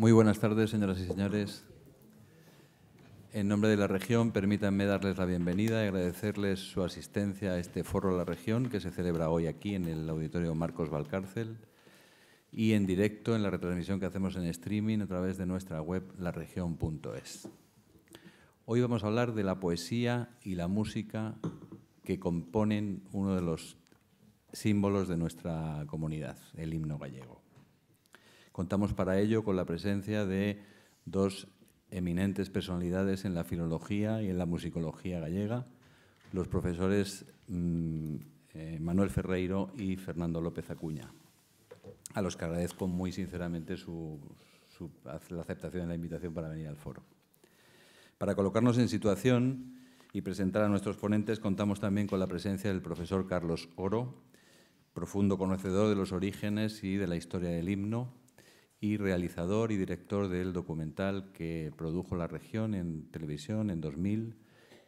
Muy buenas tardes, señoras y señores. En nombre de la región, permítanme darles la bienvenida y agradecerles su asistencia a este Foro de la Región que se celebra hoy aquí en el Auditorio Marcos Valcárcel y en directo en la retransmisión que hacemos en streaming a través de nuestra web laregion.es. Hoy vamos a hablar de la poesía y la música que componen uno de los símbolos de nuestra comunidad, el himno gallego. Contamos para ello con la presencia de dos eminentes personalidades en la filología y en la musicología gallega, los profesores Manuel Ferreiro y Fernando López Acuña, a los que agradezco muy sinceramente la aceptación de la invitación para venir al foro. Para colocarnos en situación y presentar a nuestros ponentes, contamos también con la presencia del profesor Carlos Oro, profundo conocedor de los orígenes y de la historia del himno, y realizador y director del documental que produjo la región en televisión en 2000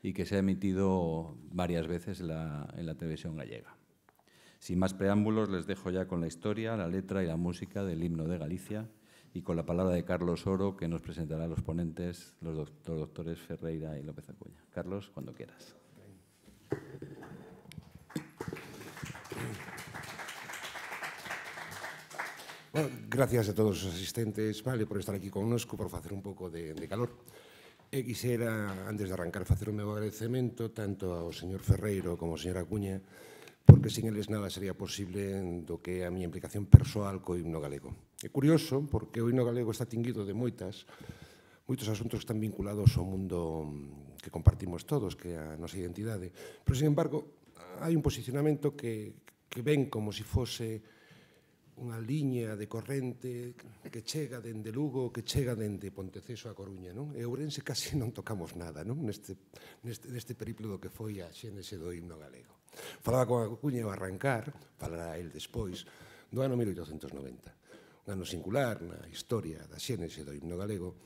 y que se ha emitido varias veces en la televisión gallega. Sin más preámbulos, les dejo ya con la historia, la letra y la música del himno de Galicia y con la palabra de Carlos Oro, que nos presentará a los ponentes, los doctores Ferreira y López Acuña. Carlos, cuando quieras. Bueno, gracias a todos os asistentes, vale, por estar aquí connosco, por facer un pouco de calor. E quixera, antes de arrancar, facer o meu agradecemento tanto ao señor Ferreiro como ao señor Acuña, porque sin eles nada sería posible do que é a miña implicación persoal co himno galego. É curioso, porque o himno galego está tinguido de moitos asuntos que están vinculados ao mundo que compartimos todos, que é a nosa identidade. Pero, sin embargo, hai un posicionamento que ven como se fose unha liña de corrente que chega dende Lugo, que chega dende Ponteceso a Coruña, non? E Ourense casi non tocamos nada, non? Neste periplo do que foi a xénese do himno galego. Falaba con Acuña ao arrancar, falará el despois, do ano 1890. Un ano singular na historia da xénese do himno galego.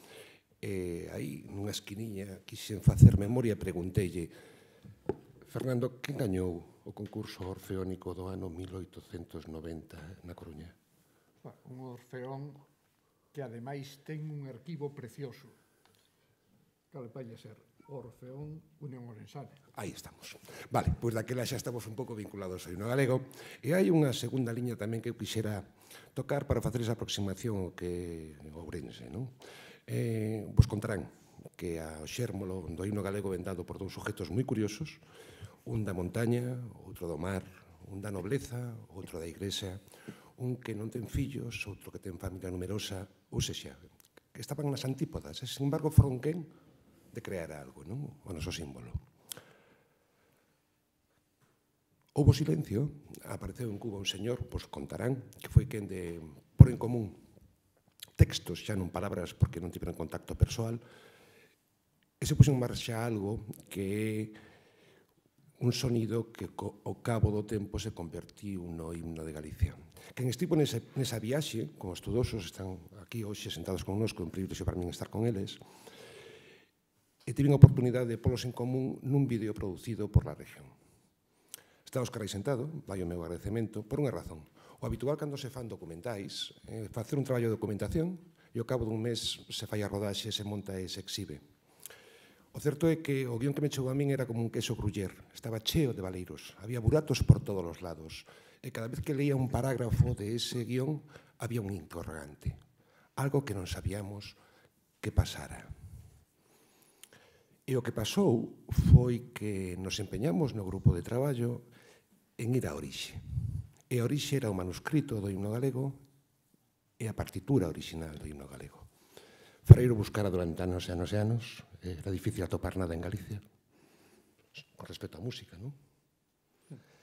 E aí, nunha esquiniña, quixen facer memoria e pregunteille: Fernando, quen gañou o concurso orfeónico do ano 1890 na Coruña? Un orfeón que ademais ten un arquivo precioso. Cal vai a ser? Orfeón Unión Orensana. Aí estamos. Vale, pois daquela xa estamos un pouco vinculados ao himno galego. E hai unha segunda liña tamén que eu quixera tocar para facer esa aproximación ao que é Ourense, non? Vos contarán que o xérmolo do himno galego ven dado por dous sujetos moi curiosos, un da montaña, outro do mar, un da nobleza, outro da igrexa, un que non ten fillos, outro que ten familia numerosa, ou sexa, que estaban nas antípodas, e, sin embargo, foron quen de crear algo, non? O noso símbolo. Houbo silencio, apareceu en Cuba un señor, pois contarán, que foi quen de pôr en común textos, xa non palabras, porque non tiveron contacto persoal, e se puxo en marcha algo que é un sonido que ao cabo do tempo se convertiu no himno de Galicia. Quen estivo nesa viaxe, como estudosos, están aquí hoxe sentados connosco, un privilexio para min estar con eles, e tiven a oportunidade de polos en común nun vídeo producido por la región. Está Óscar aí sentado, vai o meu agradecemento, por unha razón. O habitual cando se fan documentais é facer un traballo de documentación e ao cabo dun mes se fai a rodaxe, se monta e se exhibe. O certo é que o guión que me chegou a min era como un queso gruyer, estaba cheo de valeiros, había buratos por todos os lados, e cada vez que leía un parágrafo de ese guión había un interrogante, algo que non sabíamos que pasara. E o que pasou foi que nos empeñamos no grupo de traballo en ir á orixe. E a orixe era o manuscrito do himno galego e a partitura original do himno galego. Ferreiro buscara durante anos e anos e anos, era difícil atopar nada en Galicia, con respecto á música, non?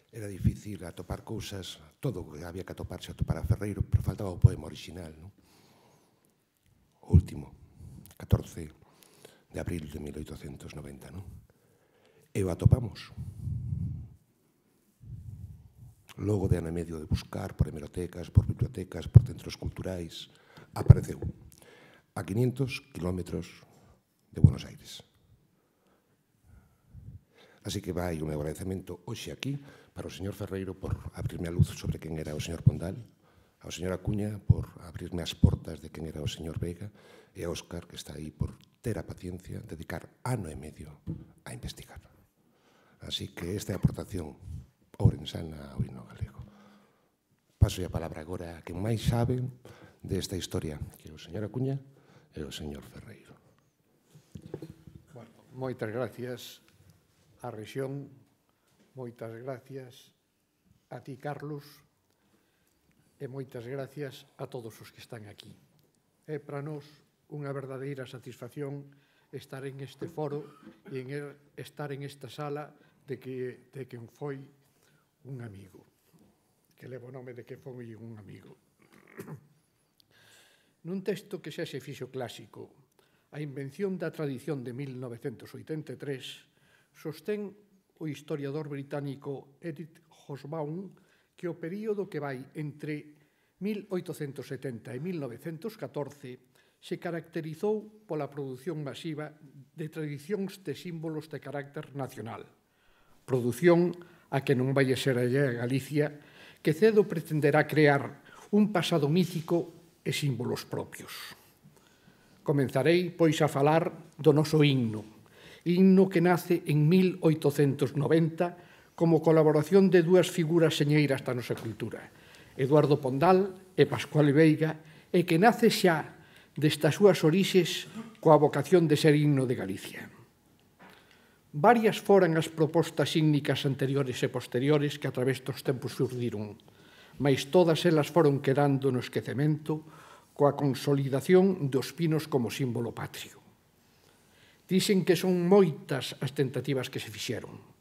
Era difícil atopar cousas, todo o que había que atoparse atopar a Ferreiro, pero faltaba o poema original, non? O último, 14 de abril de 1890, non? E o atopamos. Logo de ano e medio de buscar por hemerotecas, por bibliotecas, por centros culturais, apareceu a 500 kilómetros de Buenos Aires. Así que vai o meu agradecemento hoxe aquí para o señor Ferreiro por abrirme a luz sobre quen era o señor Pondal, ao señor Acuña por abrirme as portas de quen era o señor Vega e a Óscar, que está aí, por ter a paciencia, dedicar ano e medio a investigar. Así que esta é a aportación ourensana ao himno galego. Paso a palabra agora a quen máis sabe desta historia, que é o señor Acuña e o señor Ferreiro. Bueno, moitas gracias á rexión, moitas gracias a ti, Carlos, e moitas gracias a todos os que están aquí. É para nós unha verdadeira satisfacción estar en este foro e estar en esta sala de quen foi un amigo, que levo o nome de que foi un amigo. Nun texto que xa se fixo clásico, a invención da tradición de 1983, sostén o historiador británico Edith Hobsbawm que o período que vai entre 1870 e 1914 se caracterizou pola produción masiva de tradicións de símbolos de carácter nacional. Produción a que non vai a ser allá a Galicia, que cedo pretenderá crear un pasado mítico e símbolos propios. Comenzarei, pois, a falar do noso himno que nace en 1890 como colaboración de dúas figuras señeiras da nosa cultura, Eduardo Pondal e Pascual Veiga, e que nace xa destas súas orixes coa vocación de ser himno de Galicia. Varias foran as propostas ígnicas anteriores e posteriores que a través dos tempos surdiron, mais todas elas foron quedando no esquecemento coa consolidación dos pinos como símbolo patrio. Dicen que son moitas as tentativas que se fixeron,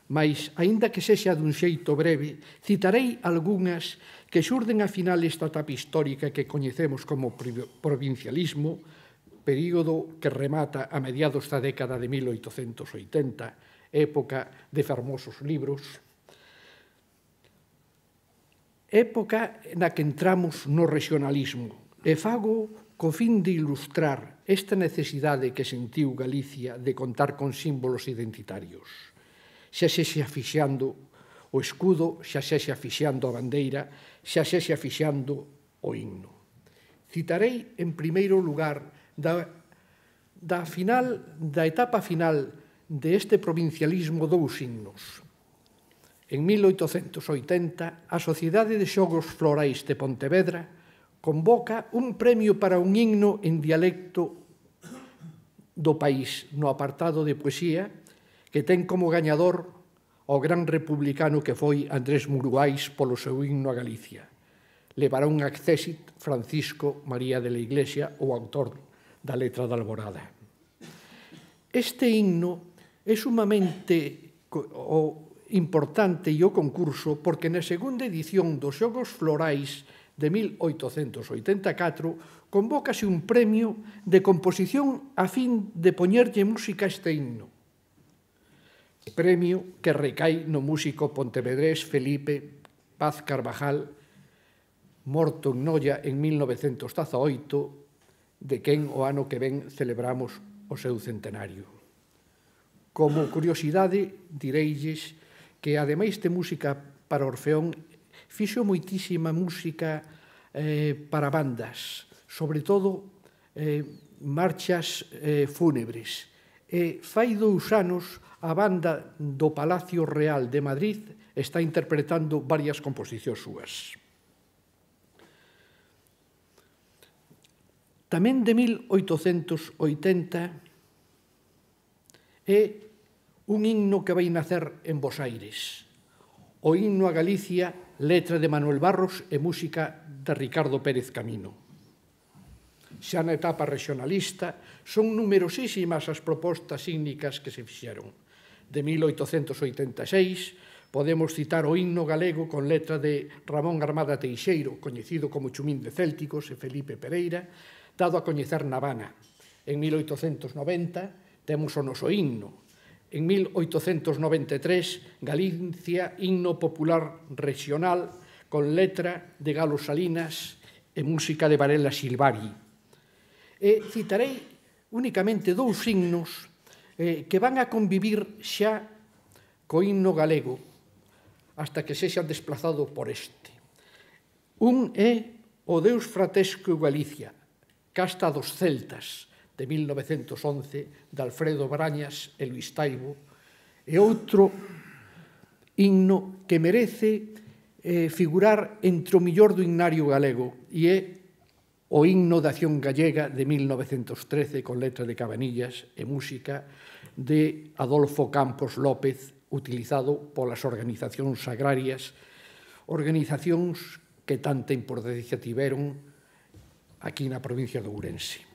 mas, aínda que sexa dun xeito breve, citarei algunhas que xurden a final esta etapa histórica que coñecemos como provincialismo, período que remata a mediados da década de 1880, época de fermosos libros, época na que entramos no regionalismo, e fago co fin de ilustrar esta necesidade que sentiu Galicia de contar con símbolos identitarios, xa sexa fixando o escudo, xa sexa fixando a bandeira, xa sexa fixando o himno. Citarei, en primeiro lugar, da etapa final deste provincialismo dous himnos. En 1880, a Sociedade de Xogos Florais de Pontevedra convoca un premio para un himno en dialecto do país no apartado de poesía que ten como gañador o gran republicano que foi Andrés Muruais polo seu himno a Galicia. Levará un accésit Francisco María de la Iglesia, o autor da letra da Alborada. Este himno é sumamente importante e o concurso porque na segunda edición dos Xogos Florais de 1884 convócase un premio de composición a fin de poñerlle música a este himno. Premio que recai no músico pontevedrés Felipe Paz Carvajal, morto en Noia en 1918, de quen o ano que ven celebramos o seu centenario. Como curiosidade, direilles que, ademais de música para Orfeón, fixo moitísima música para bandas, sobre todo marchas fúnebres. Fai 2 anos, a banda do Palacio Real de Madrid está interpretando varias composicións súas. Tamén de 1880 é un himno que vai nacer en Bos Aires. O himno a Galicia, letra de Manuel Barros e música de Ricardo Pérez Camino. Xa na etapa regionalista, son numerosísimas as propostas ígnicas que se fixeron. De 1886, podemos citar o himno galego con letra de Ramón Armada Teixeiro, coñecido como Chumín de Célticos, e Felipe Pereira, dado a coñecer na Habana. En 1890 temos o noso himno. En 1893, Galicia, himno popular regional con letra de Galo Salinas e música de Varela Silvari. E citarei únicamente 2 himnos que van a convivir xa co himno galego hasta que sexan desplazado por este. Un é O Deus Fratesco Galicia, Casta dos Celtas, de 1911, de Alfredo Brañas e Luís Taibo, e outro himno que merece figurar entre o millor do himnario galego, e é o himno de Acción Gallega de 1913 con letra de Cabanillas e música de Adolfo Campos López, utilizado polas organizacións agrarias, organizacións que tanta importancia tiveron aquí na provincia de Ourense.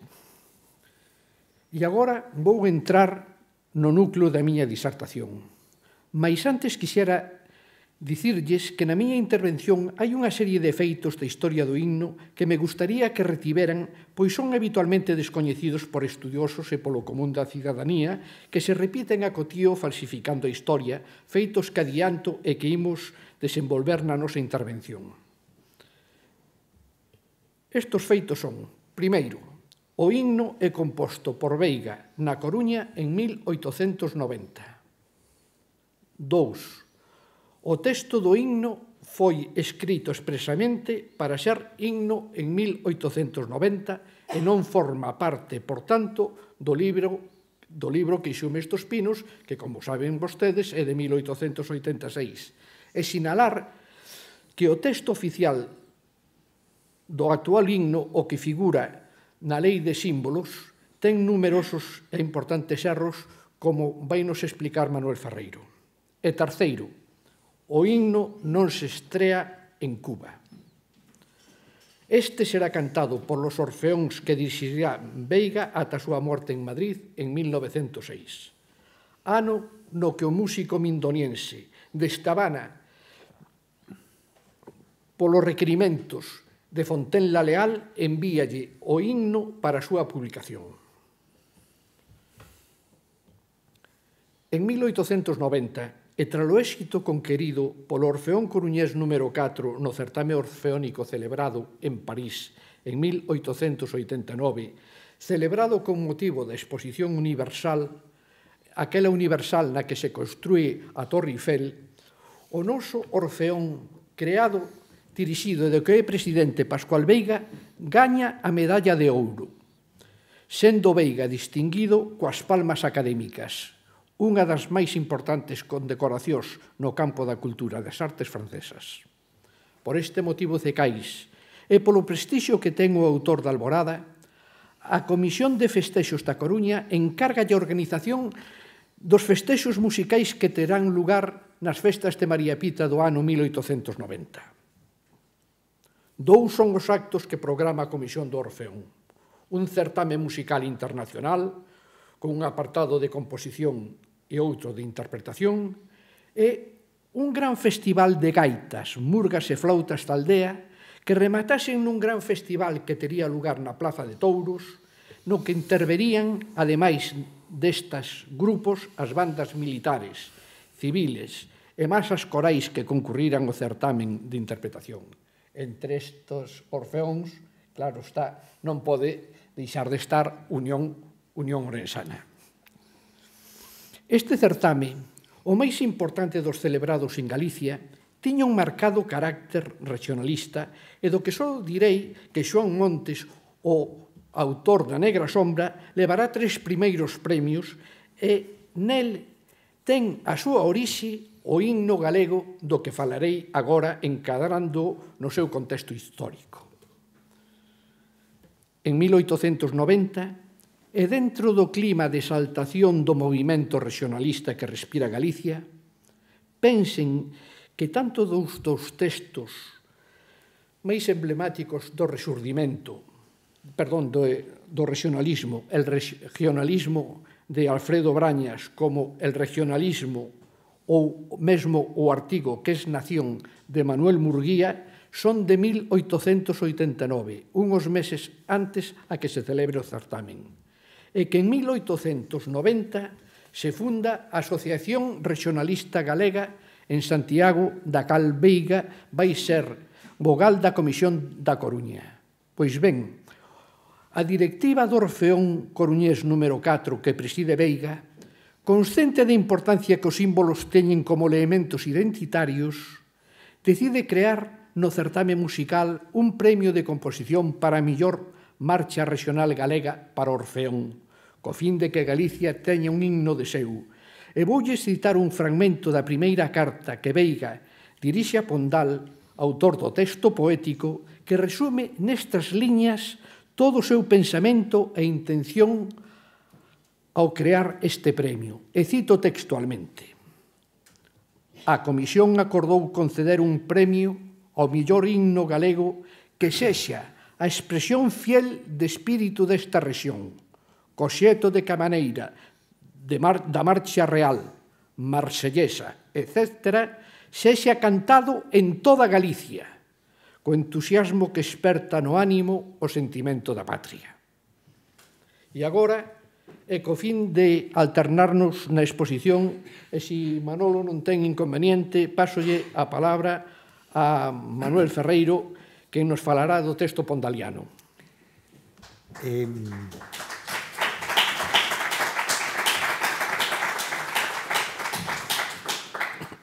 E agora vou entrar no núcleo da miña disertación. Mais antes quixera dicirlles que na miña intervención hai unha serie de feitos da historia do himno que me gustaría que retiveran, pois son habitualmente descoñecidos por estudiosos e polo común da cidadanía, que se repiten a cotío falsificando a historia, feitos que adianto e que imos desenvolver na nosa intervención. Estos feitos son, primeiro, o himno é composto por Veiga na Coruña en 1890. 2. O texto do himno foi escrito expresamente para ser himno en 1890 e non forma parte, por tanto, do libro que Xume estos Pinos, que, como saben vostedes, é de 1886. E sinalar que o texto oficial do actual himno, o que figura na Lei de Símbolos, ten numerosos e importantes erros, como vai nos explicar Manuel Ferreiro. E terceiro, o himno non se estrea en Cuba. Este será cantado por los orfeóns que dirixirá Veiga ata a súa morte en Madrid en 1906. Ano no que o músico mindoniense desta Habana, polos requerimentos de Fontenla Leal, envíalle o himno para a súa publicación. En 1890, e tralo éxito conquerido polo Orfeón Coruñés número 4 no certame orfeónico celebrado en París en 1889, celebrado con motivo da Exposición Universal, aquela universal na que se construí a Torre Eiffel, o noso Orfeón creado, dirixido do que é presidente Pascual Veiga, gaña a medalla de ouro, sendo Veiga distinguido coas palmas académicas, unha das máis importantes condecoracións no campo da cultura das artes francesas. Por este motivo cecais, e polo prestixio que ten o autor da Alborada, a Comisión de Festexos da Coruña encarga a organización dos festexos musicais que terán lugar nas festas de María Pita do ano 1890. Dous son os actos que programa a Comisión do Orfeón. Un certame musical internacional, con un apartado de composición e outro de interpretación, e un gran festival de gaitas, murgas e flautas da aldea que rematasen nun gran festival que tería lugar na Plaza de Touros, no que interverían, ademais destas grupos, as bandas militares, civiles e masas corais que concurriran ao certamen de interpretación. Entre estes orfeóns, claro está, non pode deixar de estar Unión Orensana. Este certame, o máis importante dos celebrados en Galicia, tiña un marcado carácter regionalista e do que só direi que Xoán Montes, o autor da Negra Sombra, levará 3 primeiros premios e nel ten a súa orixe o himno galego do que falarei agora encadrando no seu contexto histórico. En 1890, e dentro do clima de exaltación do movimento regionalista que respira Galicia, pensen que tanto dos textos máis emblemáticos do regionalismo, el regionalismo de Alfredo Brañas, como el regionalismo ou mesmo o artigo que es Nación de Manuel Murguía, son de 1889, unhos meses antes a que se celebre o certamen, e que en 1890 se funda a Asociación Regionalista Galega en Santiago, da cal Veiga vai ser vogal da Comisión da Coruña. Pois ben, a directiva do Orfeón Coruñés número 4 que preside Veiga, consciente da importancia que os símbolos teñen como elementos identitarios, decide crear no certame musical un premio de composición para a mellor marcha regional galega para Orfeón, co fin de que Galicia teña un himno de seu. E voulle citar un fragmento da primeira carta que Veiga dirixe a Pondal, autor do texto poético, que resume nestas liñas todo o seu pensamento e intención ao crear este premio. E cito textualmente: a Comisión acordou conceder un premio ao mellor himno galego que sexa a expresión fiel de espírito desta rexión, co xeito de que a maneira da marcha real, marsellesa, etc., sexa cantado en toda Galicia, co entusiasmo que esperta no ánimo o sentimento da patria. E agora, e co fin de alternarnos na exposición, e se Manolo non ten inconveniente, pásolle a palabra a Manuel Ferreiro, que nos falará do texto pondaliano.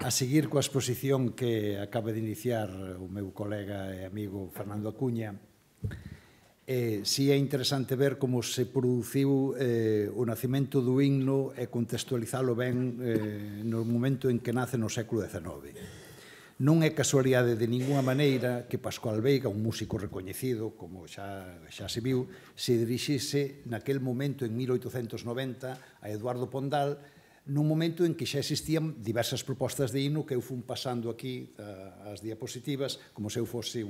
A seguir coa exposición que acaba de iniciar o meu colega e amigo Fernando Acuña, si é interesante ver como se produciu o nacemento do himno e contextualizalo ben no momento en que nace no século XIX. Non é casualidade de ninguna maneira que Pascual Veiga, un músico recoñecido, como xa se viu, se dirixise naquel momento, en 1890, a Eduardo Pondal, nun momento en que xa existían diversas propostas de himno que eu fun pasando aquí as diapositivas como se eu fose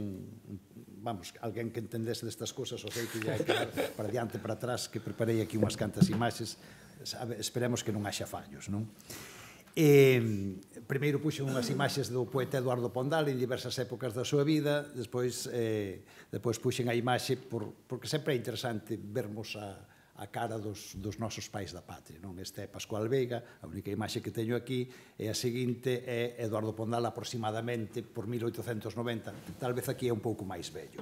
alguén que entendese destas cosas, o sei que ia quedar para diante, para atrás, que preparei aquí unhas cantas imaxes, esperemos que non haxa fallos, non? Primeiro puxen unhas imaxes do poeta Eduardo Pondal en diversas épocas da súa vida, despois puxen a imaxe porque sempre é interesante vermos a cara dos nosos pais da patria. Este é Pascual Veiga, a única imaxe que teño aquí, e a seguinte é Eduardo Pondal aproximadamente por 1890, tal vez aquí é un pouco máis vello.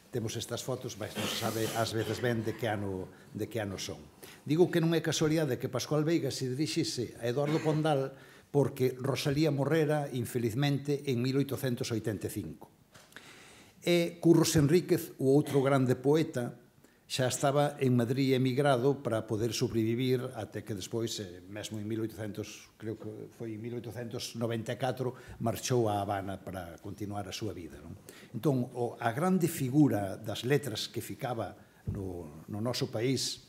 Temos estas fotos, mas non se sabe ás veces ben de que ano son. Digo que non é casualidade que Pascual Veiga se dirixise a Eduardo Pondal porque Rosalía morrera, infelizmente, en 1885. E Curros Enríquez, o outro grande poeta, xa estaba en Madrid emigrado para poder sobrevivir até que despois, mesmo en creo que foi en 1894, marchou a Habana para continuar a súa vida. Entón, a grande figura das letras que ficaba no noso país,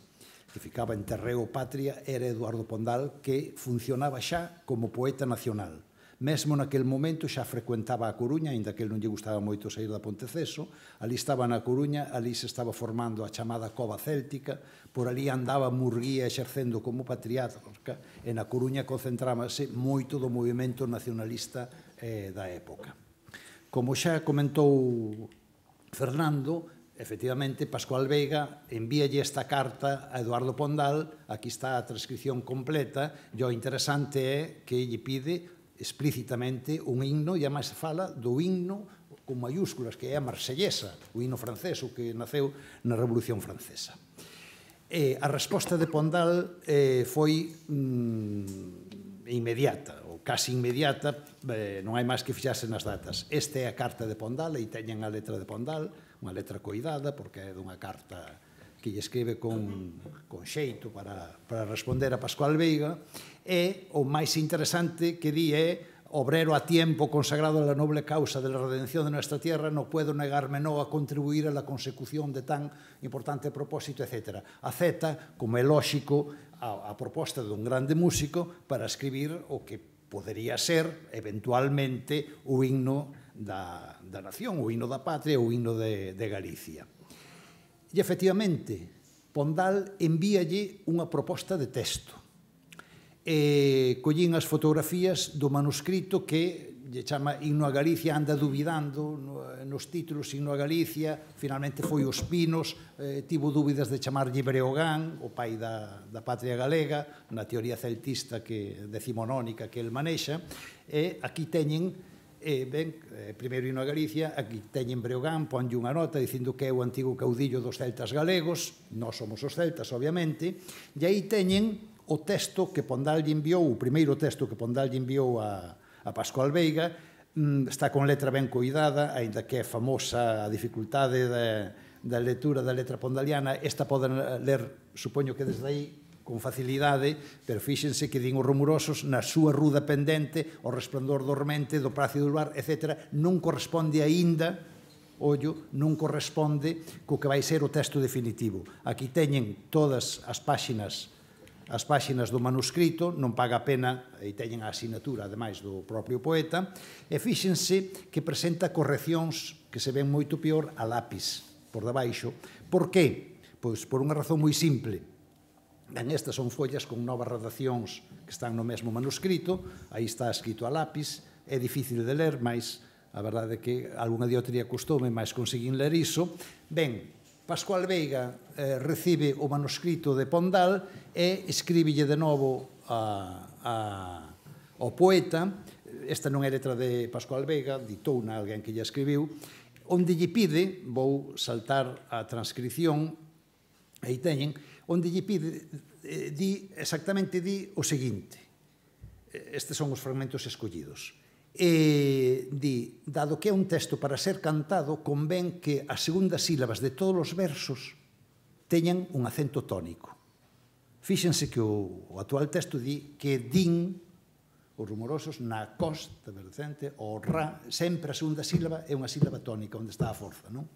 que ficaba en terreo patria, era Eduardo Pondal, que funcionaba xa como poeta nacional. Mesmo naquel momento xa frecuentaba a Coruña, aínda que non lle gustaba moito sair da Ponteceso, ali estaba na Coruña, ali se estaba formando a chamada Cova Céltica, por ali andaba Murguía exercendo como patriarca, e na Coruña concentrábase moito do movimento nacionalista da época. Como xa comentou Fernando, efectivamente, Pascual Veiga envíalle esta carta a Eduardo Pondal, aquí está a transcripción completa, e o interesante é que lle pide explícitamente un himno, e ademais se fala do himno con mayúsculas, que é a marsellesa, o himno francés, o que naceu na Revolución Francesa. A resposta de Pondal foi inmediata, ou casi inmediata, non hai máis que fixarse nas datas. Esta é a carta de Pondal, e teñen a letra de Pondal, unha letra coidada, porque é dunha carta que lle escribe con xeito para responder a Pascual Veiga, e o máis interesante que di é: obrero a tiempo consagrado a la noble causa de la redención de nuestra tierra, no puedo negarme no a contribuir a la consecución de tan importante propósito, etc. Acepta, como é lóxico, a proposta dun grande músico para escribir o que podería ser, eventualmente, o himno da nación, o himno da patria, o himno de Galicia. E, efectivamente, Pondal envíalle unha proposta de texto. Collín as fotografías do manuscrito que lle chama Himno a Galicia, anda dubidando nos títulos Himno a Galicia, finalmente foi Os Pinos, tivo dúbidas de chamarlle Breogán, o pai da patria galega, na teoría celtista decimonónica que el manexa, e aquí teñen primeiro himno a Galicia, aquí teñen Breogán, ponlle unha nota dicindo que é o antigo caudillo dos celtas galegos, nós somos os celtas, obviamente, e aí teñen o texto que Pondal lle enviou, o primeiro texto que Pondal lle enviou a Pascual Veiga, está con letra ben coidada, aínda que é famosa a dificultade da lectura da letra pondaliana, esta poden ler, supoño que desde aí, con facilidade, pero fíxense que din os rumorosos na súa ruda pendente, o resplandor dormente do prazo do luar, etc., non corresponde aínda, ollo, non corresponde co que vai ser o texto definitivo. Aquí teñen todas as páxinas do manuscrito, non paga a pena, e teñen a asinatura, ademais, do propio poeta, e fíxense que presenta correccións que se ven moito peor a lápis, por debaixo. Por qué? Pois por unha razón moi simple. Estas son follas con novas redaccións que están no mesmo manuscrito, aí está escrito a lápis, é difícil de ler, mas a verdade é que algunha diotría custoume, mas conseguín ler iso. Ben, Pascual Veiga recibe o manuscrito de Pondal e escríbelle de novo ao poeta. Esta non é letra de Pascual Veiga, ditouna alguén que lle escribiu, onde lle pide, vou saltar a transcripción, aí teñen, onde lle pide, exactamente di o seguinte, estes son os fragmentos escollidos, di, dado que é un texto para ser cantado, convén que as segundas sílabas de todos os versos teñan un acento tónico. Fíxense que o actual texto di que din os rumorosos na costa vertente, o ra, sempre a segunda sílaba é unha sílaba tónica, onde está a forza, non?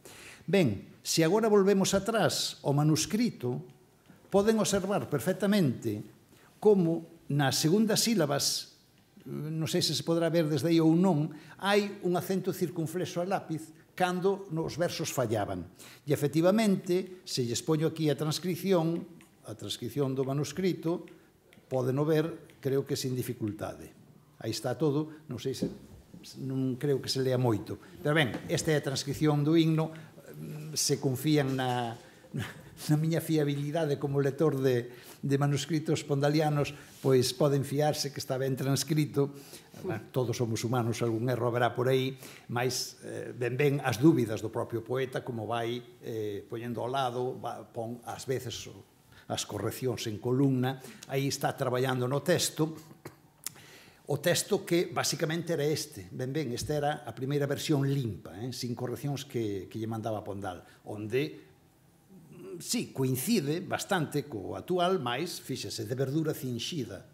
Ben, se agora volvemos atrás ao manuscrito, poden observar perfectamente como nas segundas sílabas, non sei se se podrá ver desde aí ou non, hai un acento circunflexo a lápiz cando nos versos fallaban. E, efectivamente, se lles poño aquí a transcripción do manuscrito, podeno ver, creo que sin dificultade. Aí está todo, non sei se, non creo que se lea moito. Pero ben, esta é a transcripción do himno, se confían na miña fiabilidade como lector de manuscritos pondalianos, pois poden fiarse que está ben transcrito. Todos somos humanos, algún erro haberá por aí, mas ben as dúbidas do propio poeta, como vai poñendo ao lado, pon ás veces as correccións en columna, aí está traballando no texto, o texto que basicamente era este, esta era a primeira versión limpa, sin correccións que lle mandaba Pondal, onde, sí, coincide bastante co actual, mais, fíxese, de verdura cinxida,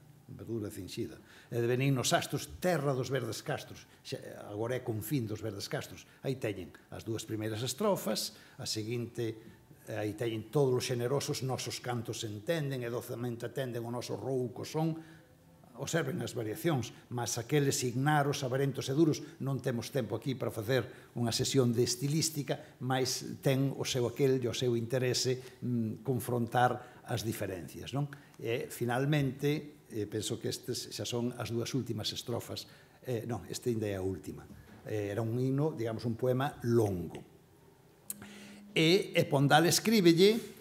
e de benignos astros, terra dos verdes castros, agora é confín dos verdes castros, aí teñen as dúas primeiras estrofas, a seguinte, aí teñen todos os xenerosos, nosos cantos entenden e docemente atenden o noso rouco son, observen as variacións, mas aqueles ignaros, abarentos e duros, non temos tempo aquí para facer unha sesión de estilística, mas ten o seu aquel e o seu interese confrontar as diferencias, non? E, finalmente, penso que estes xa son as dúas últimas estrofas, non, este ainda é a última, era un himno, digamos, un poema longo. E Pondal escríbelle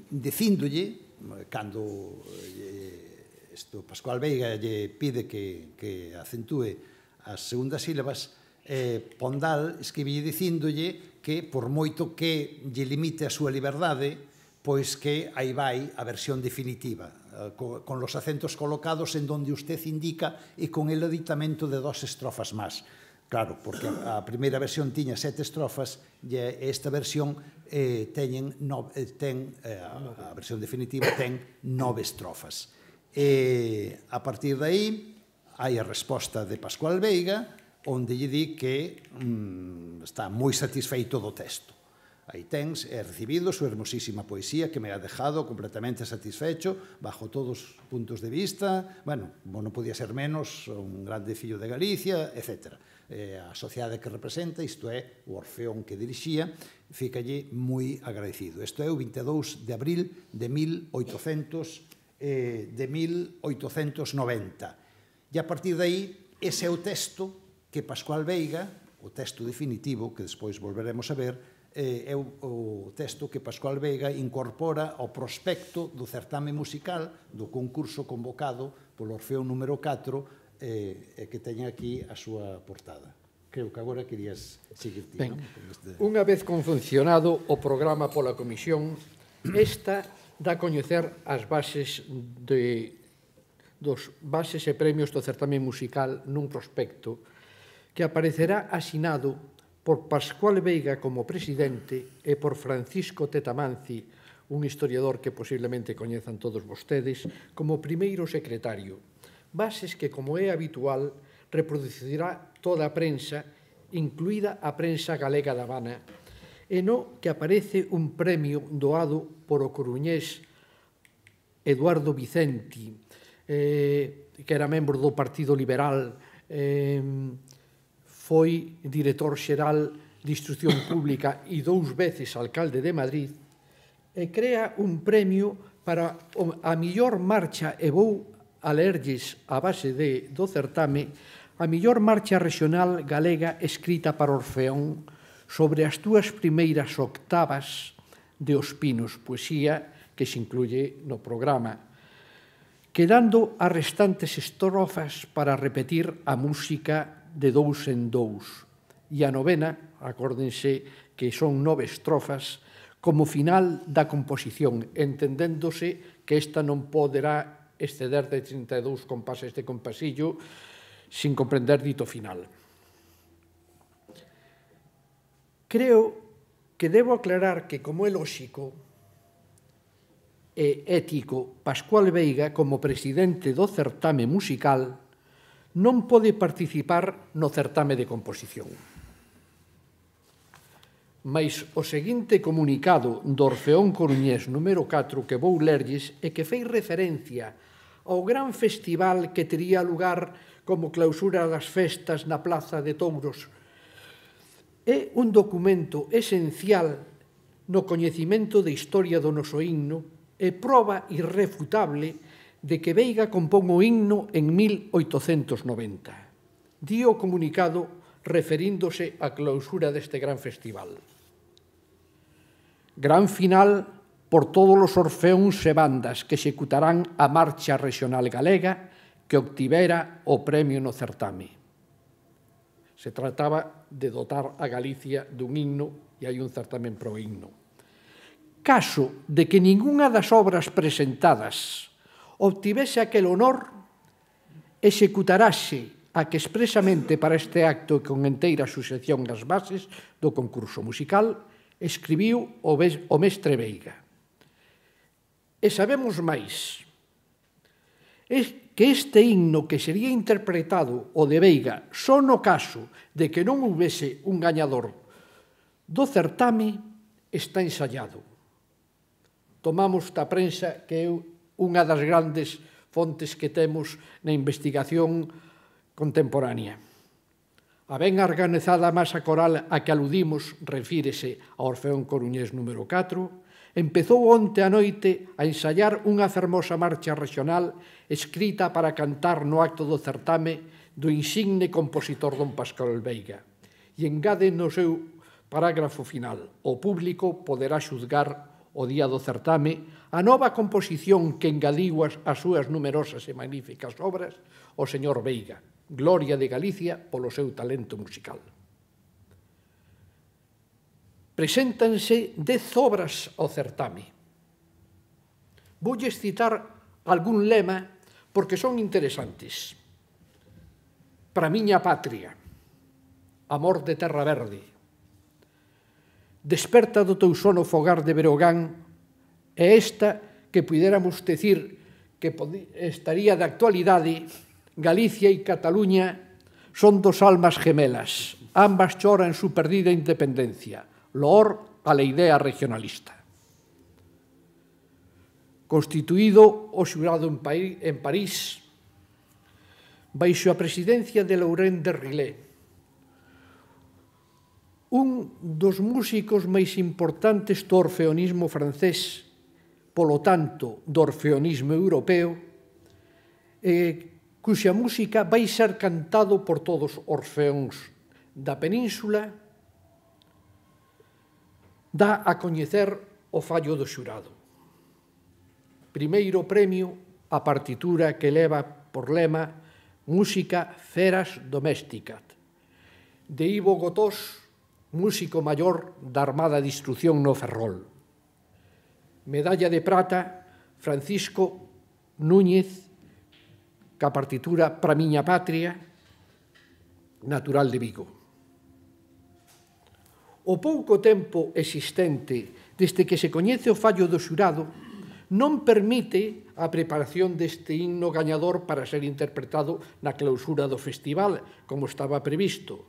dicíndolle, cando Pascual Veiga lle pide que acentúe as segundas sílabas, Pondal escríbelle dicíndolle que por moito que lle limite a súa liberdade, pois que aí vai a versión definitiva, con los acentos colocados en donde usted indica e con el aditamento de 2 estrofas máis. Claro, porque a primeira versión tiña 7 estrofas e esta versión a versión definitiva ten 9 estrofas. A partir de aí hai a resposta de Pascual Veiga, onde lle di que está moi satisfeito do texto. Aí tens, he recibido su hermosísima poesía que me ha dejado completamente satisfecho bajo todos os puntos de vista, bueno, non podía ser menos, un grande fillo de Galicia, etc. A sociedade que representa, isto é, o Orfeón que dirixía, ficalle moi agradecido. Isto é o 22 de abril de 1890. E a partir de aí, ese é o texto que Pascual Veiga, o texto definitivo, que despois volveremos a ver, é o texto que Pascual Veiga incorpora ao prospecto do certame musical do concurso convocado polo Orfeón número 4 que teña aquí a súa portada. Creo que agora querías seguir ti, non? Unha vez confuncionado o programa pola comisión, esta dá a coñecer as bases dos bases e premios do certame musical nun prospecto que aparecerá asinado por Pascual Veiga como presidente e por Francisco Tetamanzi, un historiador que posiblemente coñezan todos vostedes, como primeiro secretario. Bases que, como é habitual, reproducirá toda a prensa, incluída a prensa galega da Habana, e no que aparece un premio doado por o coruñés Eduardo Vicenti, que era membro do Partido Liberal, foi director xeral de Instrucción Pública e 2 veces alcalde de Madrid, e crea un premio para a mellor marcha, e vou a lerlles a base do certame, a mellor marcha regional galega escrita para Orfeón sobre as 2 primeiras octavas de Os Pinos, poesía que se incluye no programa, quedando as restantes estrofas para repetir a música de 2 en 2. E a novena, acórdense que son 9 estrofas, como final da composición, entendéndose que esta non poderá exceder de 32 compases de compasillo sin comprender dito final. Creo que debo aclarar que, como é lóxico e ético, Pascual Veiga, como presidente do certame musical, non pode participar no certame de composición. Mais o seguinte comunicado do Orfeón Coruñés número 4 que vou lerlles e que fei referencia ao gran festival que tería lugar como clausura das festas na Plaza de Touros é un documento esencial no coñecimento de historia do noso himno e proba irrefutable de que Veiga compón o himno en 1890. Di o comunicado referíndose á clausura deste gran festival. Gran final por todos os orfeóns e bandas que executarán a marcha regional galega que obtivera o premio no certame. Se trataba de dotar a Galicia dun himno e hai un certamen pro himno. Caso de que ningunha das obras presentadas obtivese aquel honor, executarase a que expresamente para este acto e con enteira suxección das bases do concurso musical escribiu o mestre Veiga. E sabemos máis, que este himno que sería interpretado o de Veiga só no caso de que non houvese un gañador do certame está ensayado. Tomamos da prensa que é unha das grandes fontes que temos na investigación contemporánea. A ben organizada masa coral a que aludimos refírese ao Orfeón Coruñés número 4, empezou onte a noite a ensayar unha fermosa marcha regional escrita para cantar no acto do certame do insigne compositor don Pascual Veiga. E engade no seu parágrafo final: o público poderá xuzgar o día do certame a nova composición que engadiu as súas numerosas e magníficas obras o señor Veiga, gloria de Galicia polo seu talento musical. Preséntanse 10 obras ao certame. Voulles citar algún lema porque son interesantes. Para miña patria, amor de terra verde, desperta do teu sono fogar de Berogán, e esta que puidéramos decir que estaría de actualidade, Galicia e Cataluña son 2 almas gemelas, ambas choran su perdida independencia, loor a la idea regionalista. Constituído o xurado en París, baixo a presidencia de Laurent de Rillet, un dos músicos máis importantes do orfeonismo francés, polo tanto, do orfeonismo europeo, cuxa música vai ser cantado por todos os orfeóns da península, dá a coñecer o fallo do xurado. Primeiro premio, a partitura que leva por lema Música Feras Domésticas, de Ivo Gotós, músico maior da Armada de Instrucción no Ferrol. Medalla de prata, Francisco Núñez, ca partitura Pra miña patria, natural de Vigo. O pouco tempo existente desde que se coñece o fallo do xurado non permite a preparación deste himno gañador para ser interpretado na clausura do festival, como estaba previsto.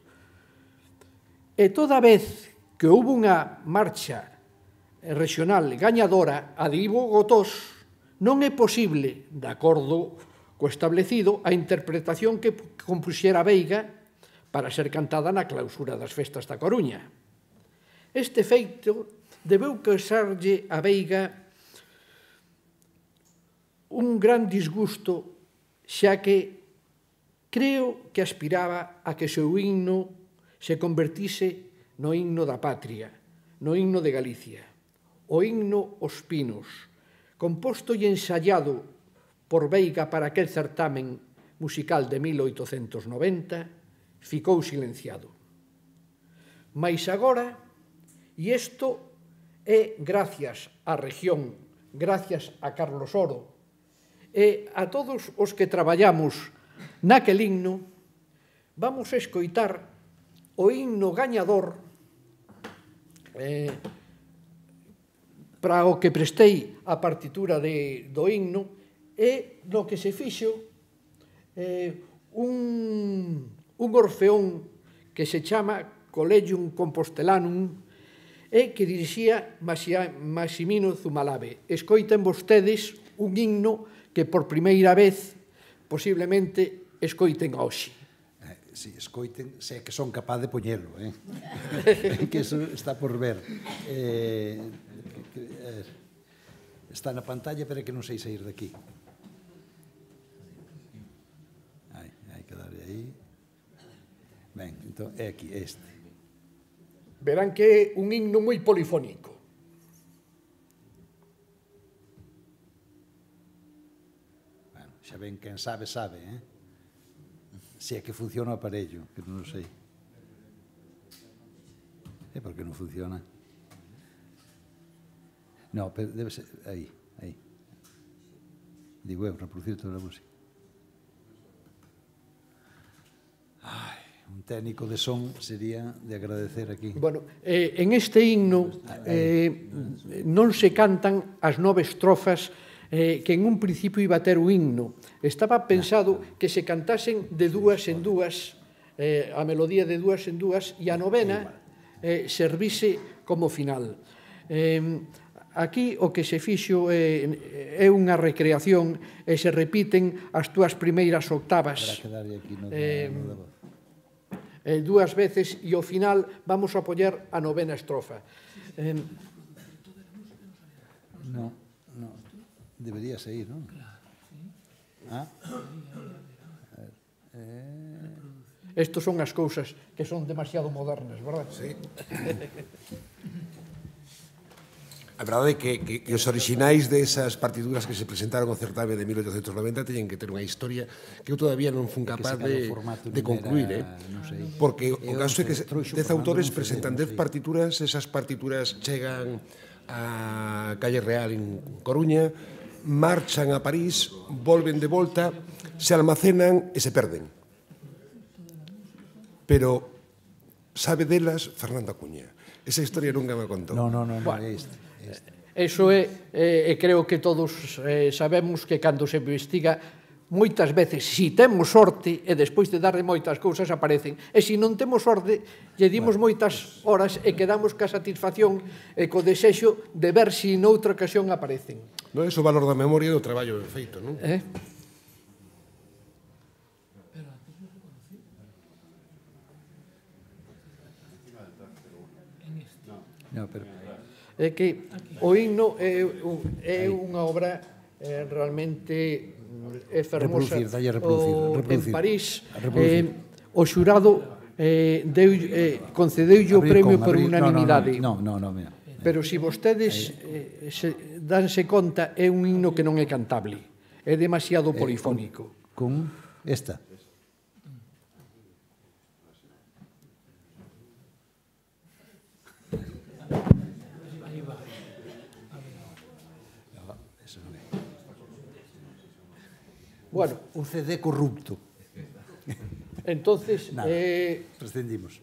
E toda vez que houve unha marcha regional gañadora, a de Ivo Gotós, non é posible, de acordo co establecido, a interpretación que compuxera Veiga para ser cantada na clausura das festas da Coruña. Este feito debeu causarlle a Veiga un gran disgusto, xa que creo que aspiraba a que o seu himno se convertise no himno da patria, no himno de Galicia, o himno Os Pinos, composto e ensaiado por Veiga para aquel certamen musical de 1890, ficou silenciado. Mais agora, e isto é gracias á región, gracias a Carlos Oro e a todos os que traballamos naquel himno, vamos a escoitar o himno gañador para o que prestei a partitura do himno e no que se fixo un orfeón que se chama Collegium Compostelanum e que dirixía Massimino Zumalave. Escoiten vostedes un himno que por primeira vez posiblemente escoiten hoxe. Si, escoiten, se que son capaz de poñelo, que eso está por ver. Está na pantalla, pero é que non sei sair daqui. Hai que darle aí. Ben, entón, é aquí, este. Verán que é un himno moi polifónico. Bueno, xa ven, quen sabe, sabe, Se é que funciona o aparello, que non o sei. É porque non funciona. No, pero debe ser, aí. Digo eu, reproducir toda a música. Un técnico de son sería de agradecer aquí. Bueno, en este himno non se cantan as 9 estrofas que en un principio iba a ter o himno. Estaba pensado que se cantasen de dúas en dúas, a melodía de dúas en dúas, e a novena servise como final. Aquí o que se fixo é unha recreación e se repiten as túas primeiras octavas. Para quedar aquí no da voz. Dúas veces e ao final vamos a poñer a novena estrofa. No, debería seguir, non? Estos son as cousas que son demasiado modernas, verdad? Sí. A verdade é que os orixinais desas partituras que se presentaron ao certame de 1890 teñen que ter unha historia que eu todavía non fun capaz de concluir, porque o caso é que 10 autores presentan 10 partituras, esas partituras chegan a Calle Real en Coruña, marchan a París, volven de volta, se almacenan e se perden. Pero sabe delas Fernando Acuña. Esa historia nunca me contou. No, é este. Eso é, creo que todos sabemos que cando se investiga moitas veces, si temos sorte e despois de darle moitas cousas aparecen, e se non temos sorte lle dimos moitas horas e quedamos ca satisfacción e co desexo de ver se noutra ocasión aparecen. Non é o valor da memoria do traballo feito, non? No, pero É que o himno é unha obra realmente fermosa. En París, o xurado concedeulle o premio por unanimidade. No, pero se vostedes danse conta, é un himno que non é cantable. É demasiado polifónico. Con esta. Bueno, un CD corrupto. Entonces, Nada, prescindimos.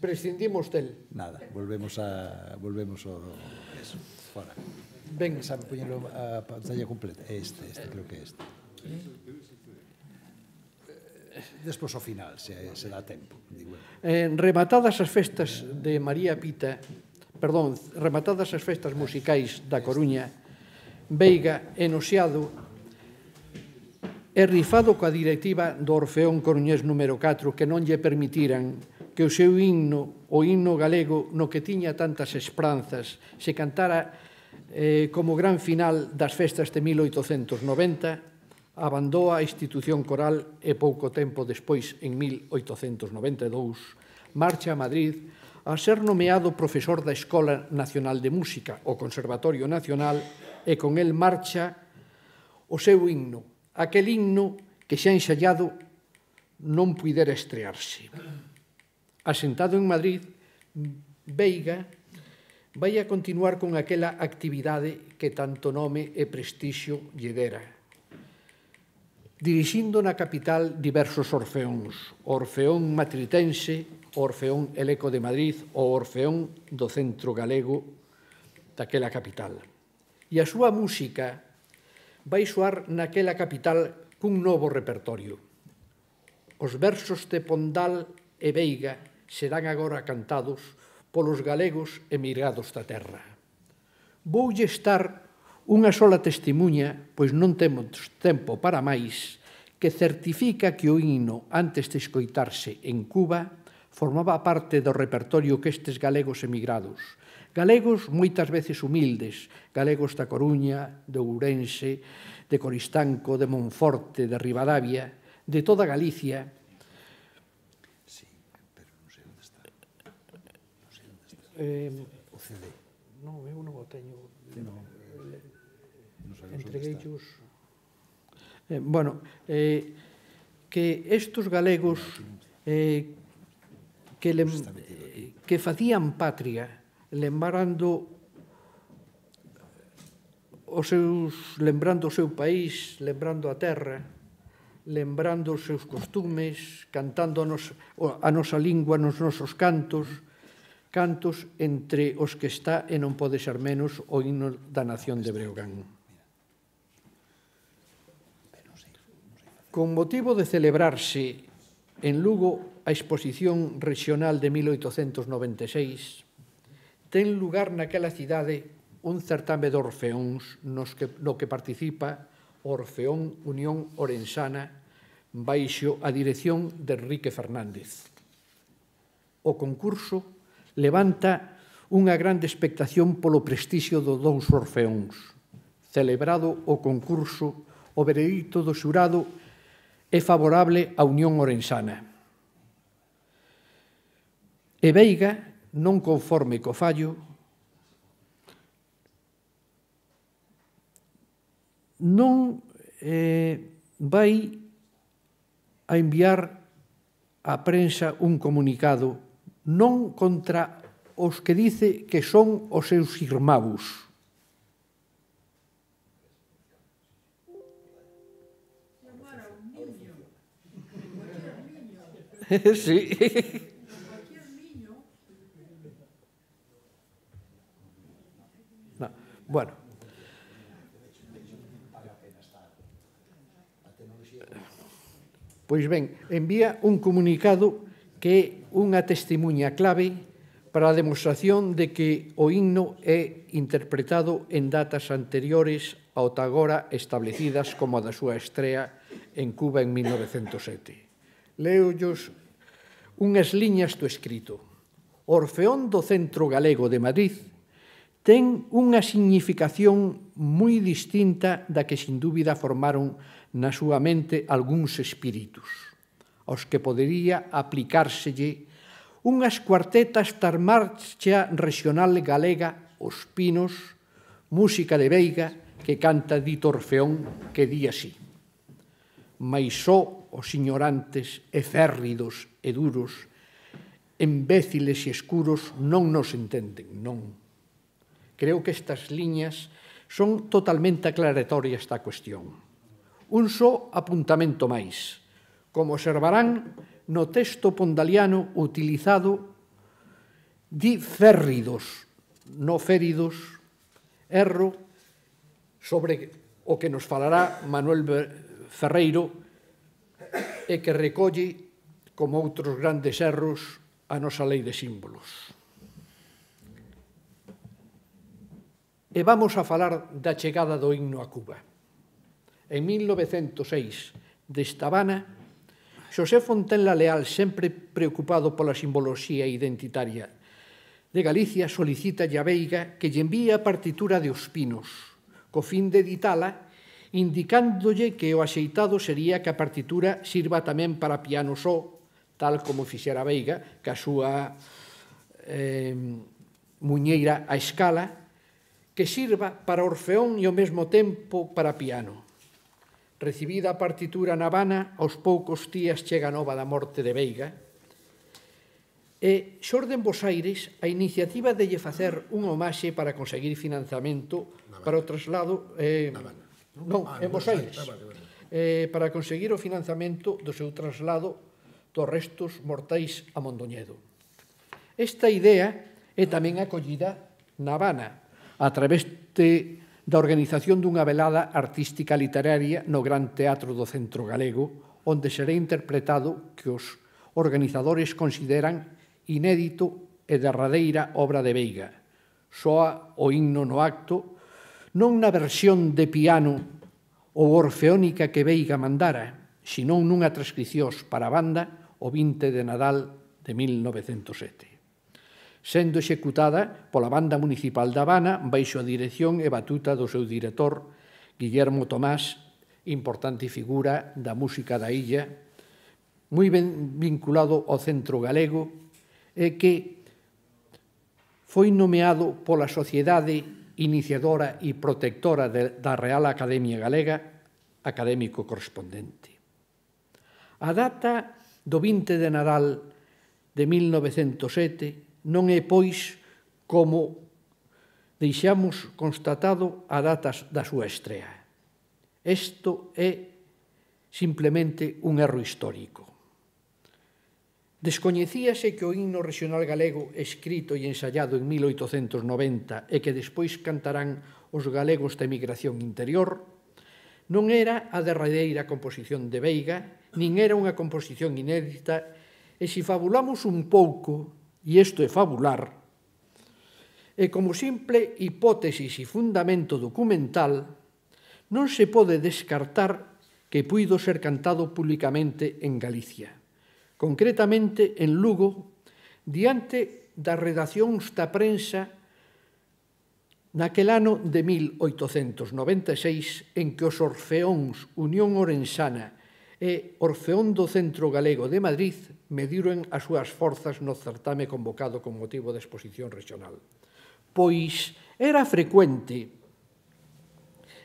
prescindimos del. Nada, volvemos ao eso, fora. Ben, Sabe poñelo a pantalla completa? Este, creo que este. Despois ao final, se dá tempo, digo. rematadas as festas de María Pita, perdón, rematadas as festas musicais da Coruña, Veiga e Nosiado é rifado coa directiva do Orfeón Coruñés número 4 que non lle permitiran que o seu himno, o himno galego, no que tiña tantas esperanzas, se cantara como gran final das festas de 1890, abandou a institución coral e pouco tempo despois, en 1892, marcha a Madrid a ser nomeado profesor da Escola Nacional de Música, o Conservatorio Nacional, e con el marcha o seu himno, aquel himno que xa ensaiado non puidera estrearse. Asentado en Madrid, Veiga vai a continuar con aquela actividade que tanto nome e prestixio lle dera, dirixindo na capital diversos orfeóns, o Orfeón Matritense, o Orfeón Eleco de Madrid, o Orfeón do Centro Galego daquela capital. E a súa música vai soar naquela capital cun novo repertorio. Os versos de Pondal e Veiga serán agora cantados polos galegos emigrados da terra. Voulle estar unha sola testemunha, pois non temos tempo para máis, que certifica que o himno, antes de escoitarse en Cuba, formaba parte do repertorio que estes galegos emigrados, galegos moitas veces humildes, galegos da Coruña, de Ourense, de Coristanco, de Monforte, de Ribadavia, de toda Galicia. Sí, pero non sei onde está. O CD. Non, eu non o teño. Non Entregueillos. Bueno, que estos galegos que facían patria, lembrando o seu país, lembrando a terra, lembrando os seus costumes, cantando a nosa lingua nos nosos cantos, entre os que está, e non pode ser menos, o himno da nación de Breogán. Con motivo de celebrarse en Lugo a exposición regional de 1896, ten lugar naquela cidade un certame de orfeóns no que participa o Orfeón Unión Orensana baixo a dirección de Enrique Fernández. O concurso levanta unha grande expectación polo prestixio dos dous orfeóns. Celebrado o concurso, o veredicto do xurado é favorable á Unión Orensana. E Veiga, non conforme co fallo, non vai a enviar á prensa un comunicado non contra os que dice que son os seus irmãos. Sí. No. Bueno. Pois ben, envía un comunicado que é unha testemunha clave para a demostración de que o himno é interpretado en datas anteriores ao agora establecidas como a da súa estrea en Cuba en 1907. Leollos unhas liñas do escrito. O Orfeón do Centro Galego de Madrid ten unha significación moi distinta da que, sin dúbida, formaron na súa mente algúns espíritus, aos que podería aplicárselle unhas cuartetas da marcha regional galega Os Pinos, música de Veiga, que canta dito Orfeón, que di así: mais só os ignorantes e férridos e duros, imbéciles e escuros non nos entenden, non. Creo que estas liñas son totalmente aclaratorias da cuestión. Un só apuntamento máis. Como observarán no texto pondaliano utilizado, di férridos, no féridos, erro, sobre o que nos falará Manuel Ferreiro e que recolle, como outros grandes erros, a nosa lei de símbolos. E vamos a falar da chegada do himno a Cuba. En 1906, desta Habana, Xosé Fontenla Leal, sempre preocupado pola simboloxía identitaria de Galicia, solicita a Veiga que lle envíe a partitura de Os Pinos, co fin de editala, indicándolle que o axeitado sería que a partitura sirva tamén para piano só, tal como fixera Veiga, que a súa muñeira a escala, que sirva para orfeón e ao mesmo tempo para piano. Recibida a partitura na Habana, aos poucos días chega a nova da morte de Veiga, e xorde en Bos Aires a iniciativa de lle facer unha homaxe para conseguir financiamento para o traslado... Non, en Bos Aires. Para conseguir o financiamento do seu traslado dos restos mortais a Mondoñedo. Esta idea é tamén acollida na Habana, a través da organización dunha velada artística literaria no Gran Teatro do Centro Galego, onde será interpretado que os organizadores consideran inédito e derradeira obra de Veiga. Soa o himno no acto, non na versión de piano ou orfeónica que Veiga mandara, senón nunha transcrición para a banda o 20 de Nadal de 1907. Sendo executada pola Banda Municipal da Habana baixo a dirección e batuta do seu director, Guillermo Tomás, importante figura da música da illa, moi ben vinculado ao Centro Galego, e que foi nomeado pola Sociedade Iniciadora e Protectora da Real Academia Galega académico correspondente. A data do 20 de Nadal de 1907 non é, pois, como deixamos constatado a data da súa estrea. Isto é simplemente un erro histórico. Descoñecíase que o himno regional galego escrito e ensaiado en 1890 e que despois cantarán os galegos da emigración interior non era a derradeira composición de Veiga, nin era unha composición inédita, e se fabulamos un pouco, e isto é fabular, e como simple hipótesis e fundamento documental, non se pode descartar que puido ser cantado públicamente en Galicia, concretamente en Lugo, diante das redaccións da prensa naquel ano de 1896, en que os orfeóns Unión Orensana e Orfeón do Centro Galego de Madrid mediron as súas forzas no certame convocado con motivo da exposición regional. Pois era frecuente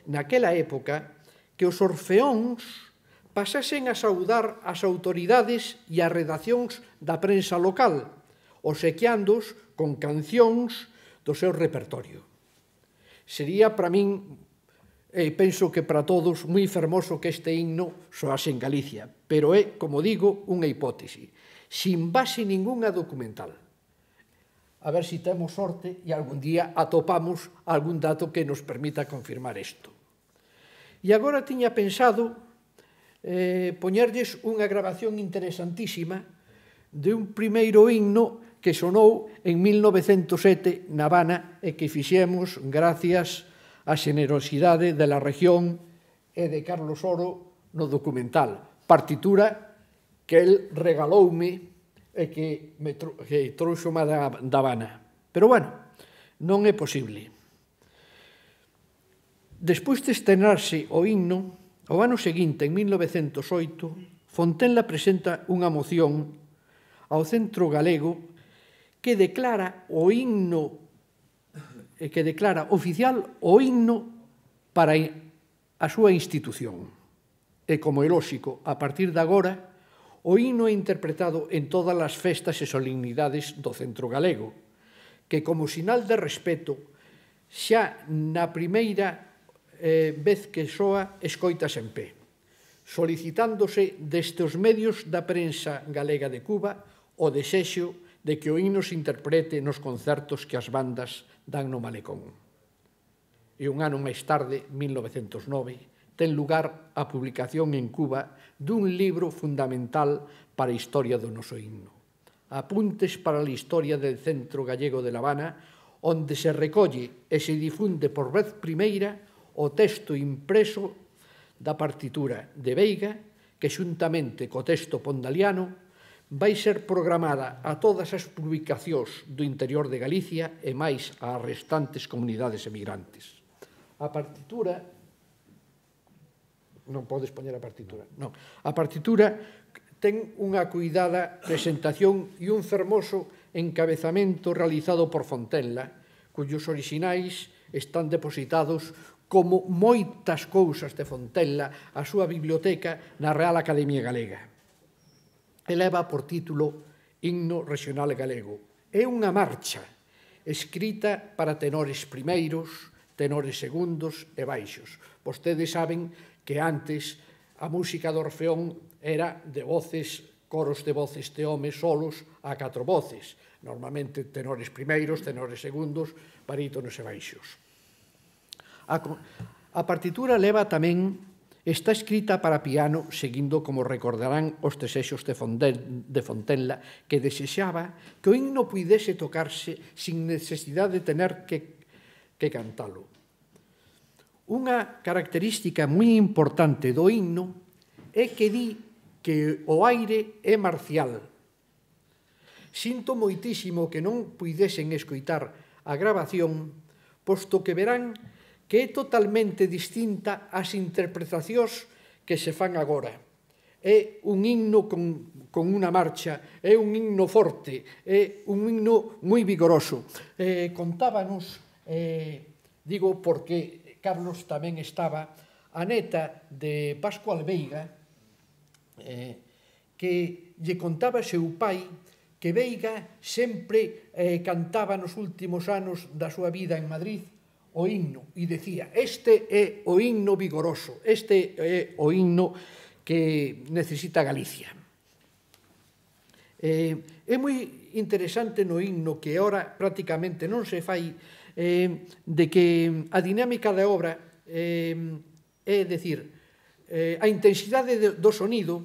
naquela época que os orfeóns pasasen a saudar as autoridades e as redaccións da prensa local, obsequiándoos con cancións do seu repertorio. Sería para min, e penso que para todos, moi fermoso que este himno soase en Galicia, pero é, como digo, unha hipótese, sin base ningunha documental. A ver se temos sorte e algún día atopamos algún dato que nos permita confirmar isto. E agora tiña pensado poñerlles unha grabación interesantísima de un primeiro himno que sonou en 1907 na Habana e que fixemos gracias a xenerosidade da región e de Carlos Oro no documental. Partitura que el regaloume e que trouxome da Habana. Pero, bueno, non é posible. Despois de estrenarse o himno, o ano seguinte, en 1908, Fontenla presenta unha moción ao Centro Galego que declara o himno que declara oficial o himno para a súa institución. E, como é lóxico, a partir de agora, o himno é interpretado en todas as festas e solemnidades do Centro Galego, que, como sinal de respeto, xa na primeira vez que soa, escoitas en pé. solicitándose desde os medios da prensa galega de Cuba o desexo de que o himno se interprete nos concertos que as bandas dan no Malecón. E un ano máis tarde, 1909, ten lugar a publicación en Cuba dun libro fundamental para a historia do noso himno. Apuntes para a historia del Centro Gallego de La Habana, onde se recolle e se difunde por vez primeira o texto impreso da partitura de Veiga, que xuntamente co texto pondaliano vai ser programada a todas as publicacións do interior de Galicia e máis ás restantes comunidades emigrantes. A partitura... Non podes poñer a partitura. Non. A partitura ten unha cuidada presentación e un fermoso encabezamento realizado por Fontenla, cuyos orixinais están depositados como moitas cousas de Fontenla a súa biblioteca na Real Academia Galega. Eleva por título Himno Regional Galego. É unha marcha escrita para tenores primeiros, tenores segundos e baixos. Vostedes saben que antes a música do Orfeón era de voces, coros de voces de homes solos a 4 voces. Normalmente tenores primeiros, tenores segundos, barítonos e baixos. A partitura leva tamén... Está escrita para piano, seguindo, como recordarán, os desexos de Fontenla, que desexaba que o himno puidese tocarse sin necesidade de tener que cantalo. Unha característica moi importante do himno é que di que o aire é marcial. Sinto moitísimo que non puidesen escoitar a grabación, posto que verán que é totalmente distinta ás interpretacións que se fan agora. É un himno con unha marcha, é un himno forte, é un himno moi vigoroso. Contábanos, digo porque Carlos tamén estaba, a neta de Pascual Veiga, que lle contaba seu pai que Veiga sempre cantaba nos últimos anos da súa vida en Madrid o himno, e decía, este é o himno vigoroso, este é o himno que necesita Galicia. É moi interesante no himno que ora prácticamente non se fai de que a dinámica da obra é dicir, a intensidade do sonido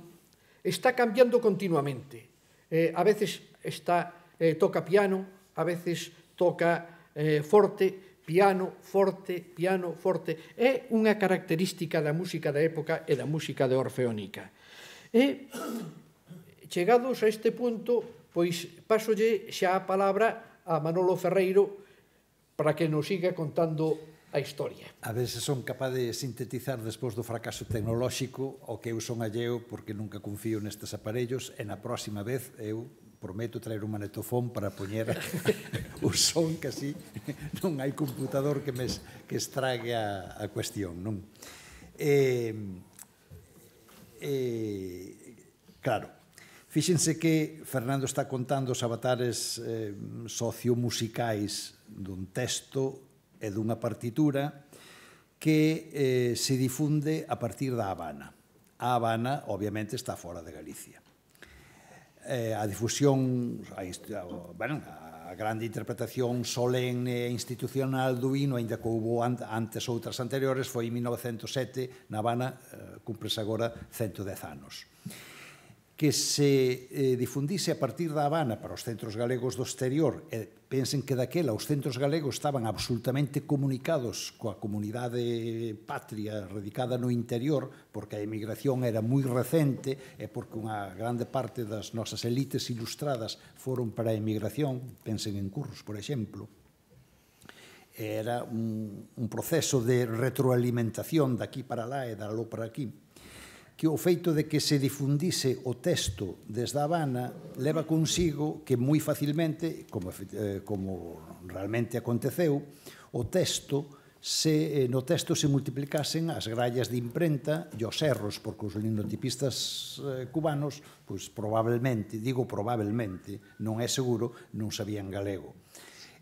está cambiando continuamente. A veces toca piano, a veces toca forte, piano, forte, piano, forte. É unha característica da música da época e da música de orfeónica. E, chegados a este punto, pois pasolle xa a palabra a Manolo Ferreiro para que nos siga contando a historia. A ver se son capaz de sintetizar despois do fracaso tecnolóxico o que eu son alleo porque nunca confío nestes aparellos e na próxima vez eu prometo traer un magnetofón para poñer o son que así non hai computador que estrague a cuestión, non? Claro, fíxense que Fernando está contando os avatares sociomusicais dun texto e dunha partitura que se difunde a partir da Habana. A Habana, obviamente, está fora de Galicia. A difusión, a grande interpretación solemne e institucional do himno, ainda que houve antes outras anteriores, foi en 1907, na Habana, cúmprese agora 110 anos. Que se difundise a partir da Habana para os centros galegos do exterior, e pensen que daquela os centros galegos estaban absolutamente comunicados coa comunidade patria radicada no interior, porque a emigración era moi recente e porque unha grande parte das nosas elites ilustradas foron para a emigración, pensen en Curros, por exemplo. Era un proceso de retroalimentación daqui para lá e daló para aquí, que o feito de que se difundise o texto desde a Habana leva consigo que moi facilmente, como realmente aconteceu, no texto se multiplicasen as grallas de imprenta e os erros, porque os linotipistas cubanos, pois probablemente, digo probablemente, non é seguro, non sabían galego.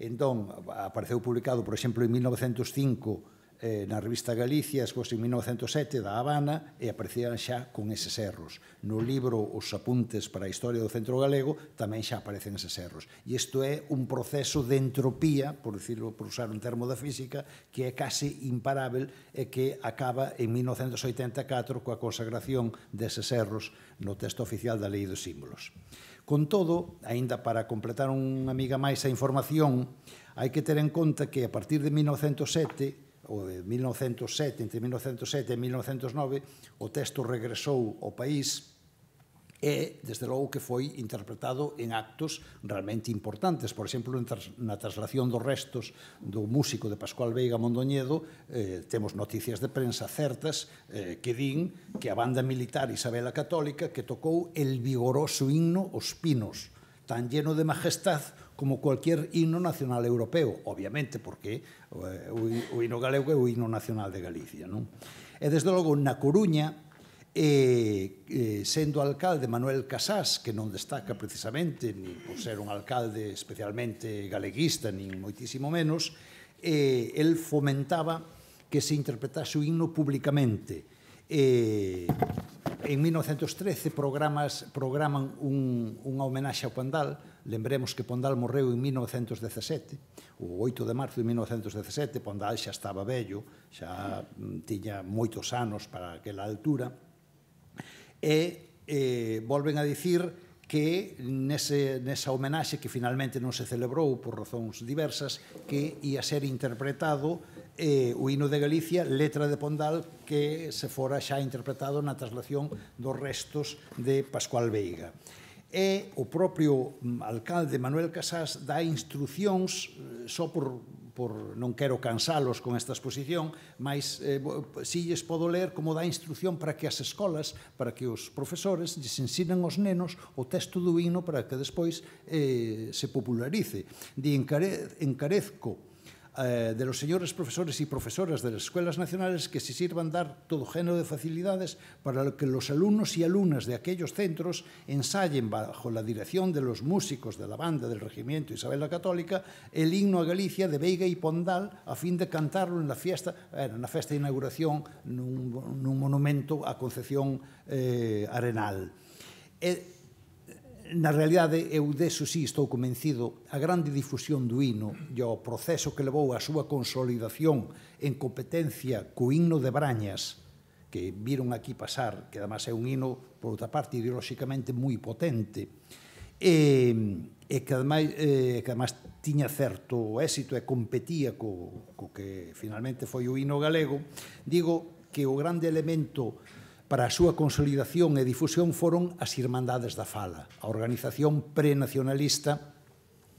Entón, apareceu publicado, por exemplo, en 1905, na revista Galicia, despois en 1907 da Habana, e aparecían xa con eses erros. No libro Os apuntes para a historia do centro galego tamén xa aparecen eses erros. E isto é un proceso de entropía, por decirlo, por usar un termo da física, que é case imparável e que acaba en 1984 coa consagración deses erros no texto oficial da Lei dos Símbolos. Con todo, aínda para completar unha miga máis a información, hai que ter en conta que a partir de 1907, ou de 1907, entre 1907 e 1909, o texto regresou ao país e, desde logo, que foi interpretado en actos realmente importantes. Por exemplo, na traslación dos restos do músico de Pascual Veiga Mondoñedo, temos noticias de prensa certas que din que a banda militar Isabela Católica que tocou el vigoroso himno Os Pinos, tan lleno de majestad como cualquier himno nacional europeo, obviamente, porque o himno galego é o himno nacional de Galicia, non? E, desde logo, na Coruña, sendo alcalde Manuel Casás, que non destaca precisamente ni por ser un alcalde especialmente galeguista, nin moitísimo menos, el fomentaba que se interpretase o himno públicamente. En 1913 programan unha homenaxe ao Pondal. Lembremos que Pondal morreu en 1917, o 8 de marzo de 1917. Pondal xa estaba vello, xa tiña moitos anos para aquela altura, e volven a dicir que nesa homenaxe que finalmente non se celebrou por razóns diversas, que ia ser interpretado o himno de Galicia, letra de Pondal, que se fora xa interpretado na traslación dos restos de Pascual Veiga. E o propio alcalde Manuel Casás dá instruccións, só por non quero cansalos con esta exposición, mas si lles podo ler como dá instrucción para que as escolas, para que os profesores lles ensinen aos nenos o texto do himno para que despois se popularice. Encarezco de los señores profesores y profesoras de las escuelas nacionales que se sirvan dar todo género de facilidades para que los alumnos y alumnas de aquellos centros ensayen bajo la dirección de los músicos de la banda del Regimiento Isabel la Católica el himno a Galicia de Veiga y Pondal a fin de cantarlo en la fiesta de inauguración nun monumento a Concepción Arenal. Na realidade, eu deso sí estou convencido, a grande difusión do himno e o proceso que levou a súa consolidación en competencia co himno de Brañas, que viron aquí pasar, que además é un himno, por outra parte, ideolóxicamente moi potente, e que además tiña certo éxito e competía co que finalmente foi o himno galego, digo que o grande elemento para a súa consolidación e difusión foron as Irmandades da Fala, a organización prenacionalista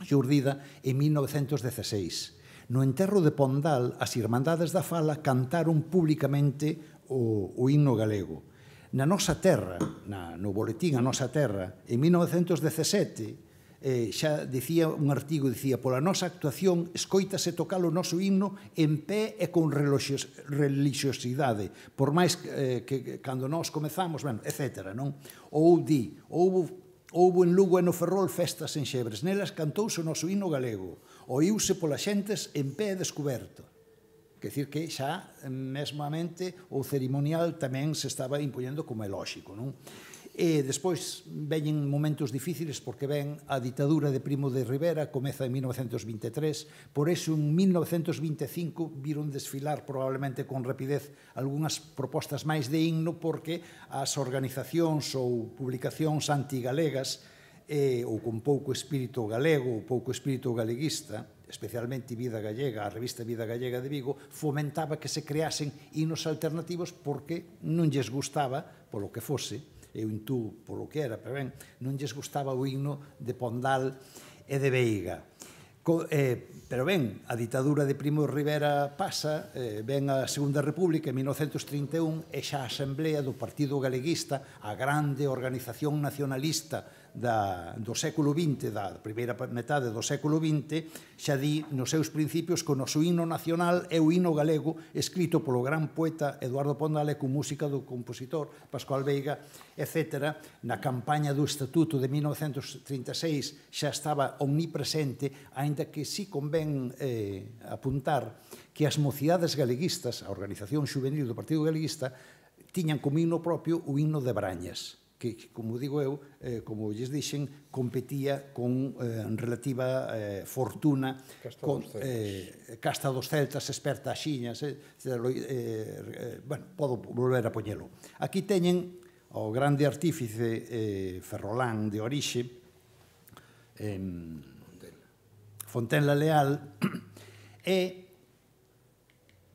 xurdida en 1916. No enterro de Pondal, as Irmandades da Fala cantaron públicamente o himno galego. Na nosa terra, no boletín A Nosa Terra, en 1917, xa dicía un artigo, dicía, pola nosa actuación escoítase tocar o noso himno en pé e con relixiosidade, por máis que cando nós comezamos, etc. Ou di, houbo en Lugo e no Ferrol festas en Xebres, nelas cantouse o noso himno galego, oíuse polas xentes en pé e descoberto. Quer dicir que xa, mesmamente, o cerimonial tamén se estaba impoñendo como é lóxico, non? E despois veñen momentos difíciles porque ven a ditadura de Primo de Rivera, comeza en 1923, por eso en 1925 viron desfilar probablemente con rapidez algunhas propostas máis de himno porque as organizacións ou publicacións antigalegas ou con pouco espírito galego ou pouco espírito galeguista, especialmente Vida Gallega, a revista Vida Gallega de Vigo, fomentaba que se creasen himnos alternativos porque non lles gustaba, polo que fose, eu intúo polo que era, pero ben, non lles gustaba o himno de Pondal e de Veiga. Pero ben, a ditadura de Primo de Rivera pasa, ven a Segunda República en 1931 e xa a Asamblea do Partido Galeguista, a grande organización nacionalista do século XX, da primeira metade do século XX, xa di nos seus principios que o noso himno nacional é o himno galego escrito polo gran poeta Eduardo Pondal e con música do compositor Pascual Veiga, etc. Na campaña do Estatuto de 1936 xa estaba omnipresente, aínda que sí convén apuntar que as mocidades galeguistas, a organización juvenil do Partido Galeguista, tiñan como himno propio o himno de Brañas, que, como digo eu, como lles dixen, competía con relativa fortuna con Casta dos Celtas, Esperta as Xiñas, bueno, podo volver a poñelo. Aquí teñen o grande artífice ferrolán de orixe, Fontenla Leal, e,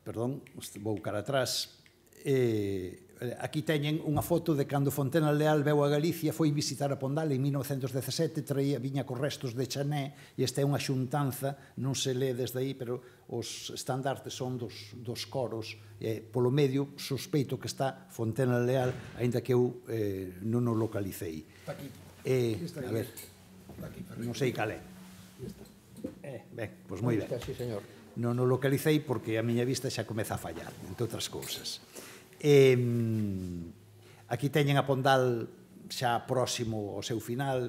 perdón, vou cara atrás, aquí teñen unha foto de cando Fontenla Leal veu a Galicia, foi visitar a Pondal en 1917, viña cos restos de Chané, e esta é unha xuntanza, non se lee desde aí, pero os estandartes son dos coros, polo medio sospeito que está Fontenla Leal, aínda que eu non o localicei. A ver, non sei cal é. Ben, pois moi ben. Non o localicei porque a miña vista xa comeza a fallar, entre outras cousas. Aquí teñen a Pondal xa próximo ao seu final,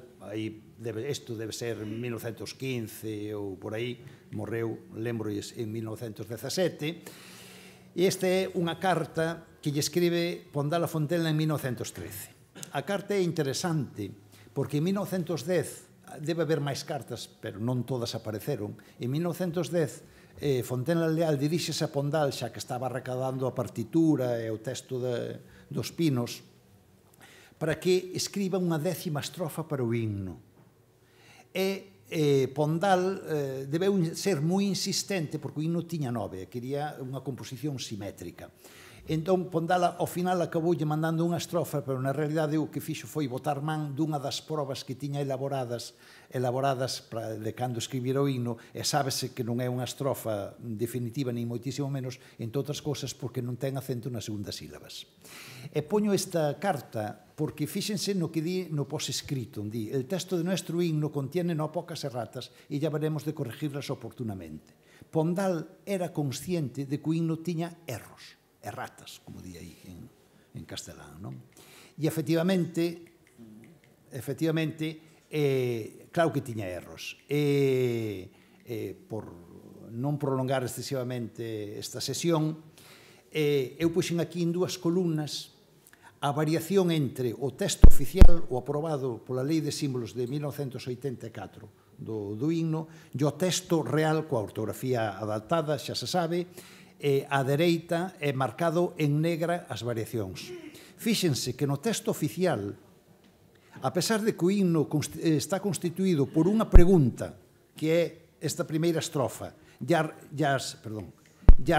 isto debe ser 1915 ou por aí, morreu, lembrolles, en 1917, e esta é unha carta que lle escribe Pondal a Fontenla en 1913. A carta é interesante porque en 1910 debe haber máis cartas, pero non todas apareceron. En 1910 Fontenla Leal diríxese a Pondal, xa que estaba recadando a partitura e o texto dos Pinos, para que escriba unha 10ª estrofa para o himno. E Pondal debeu ser moi insistente, porque o himno tiña 9, quería unha composición simétrica. Entón, Pondal, ao final, acaboulle mandando unha estrofa, pero na realidade o que fixo foi botar man dunha das probas que tiña elaboradas de cando escribira o himno, e sábese que non é unha estrofa definitiva, nin moitísimo menos, entre outras cousas, porque non ten acento nas segundas sílabas. E poño esta carta porque fíxense no que di no posescrito, di: el texto de nuestro himno contiene no pocas erratas e ya veremos de corregirlas oportunamente. Pondal era consciente de que o himno tiña erros, erratas, como di aí en castelán, non? E efectivamente, claro que tiña erros. Por non prolongar excesivamente esta sesión, eu puxen aquí en 2 columnas a variación entre o texto oficial, o aprobado pola Lei de Símbolos de 1984 do himno, e o texto real, coa ortografía adaptada, xa se sabe, á dereita é marcado en negra as variacións. Fíxense que no texto oficial, a pesar de que o himno está constituído por unha pregunta, que é esta primeira estrofa, e as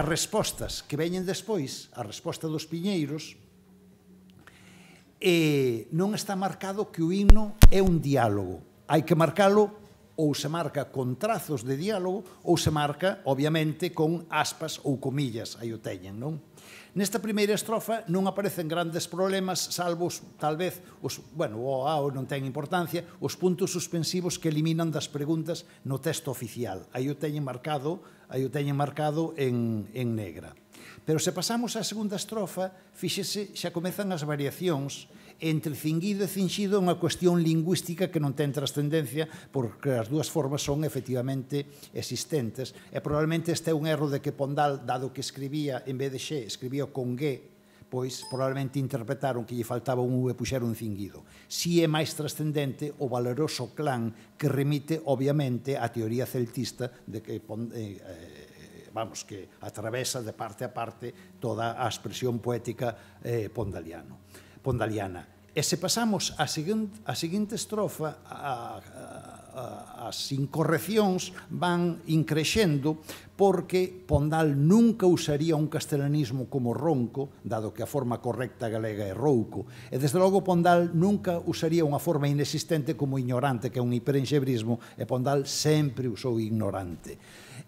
respostas que veñen despois, a resposta dos piñeiros, non está marcado que o himno é un diálogo. Hai que marcalo, ou se marca con trazos de diálogo, ou se marca, obviamente, con aspas ou comillas, aí o teñen, non? Nesta primeira estrofa non aparecen grandes problemas, salvo, tal vez, o ao non ten importancia, os puntos suspensivos que eliminan das preguntas no texto oficial. Aí o teñen marcado en negra. Pero se pasamos á segunda estrofa, fíxese, xa comezan as variacións entre cinguido e cinxido, unha cuestión lingüística que non ten trascendencia, porque as dúas formas son efectivamente existentes. E probablemente este é un erro de que Pondal, dado que escribía, en vez de xe, escribía con G, pois probablemente interpretaron que lle faltaba un U e puxeron un cinguido. Si é máis trascendente o valeroso clan que remite, obviamente, á teoría celtista de que que atravesa de parte a parte toda a expresión poética pondaliana. E se pasamos á seguinte estrofa, as incorreccións van increxendo porque Pondal nunca usaría un castelanismo como ronco, dado que a forma correcta galega é rouco, e desde logo Pondal nunca usaría unha forma inexistente como ignorante, que é un hiperenxebrismo, e Pondal sempre usou ignorante.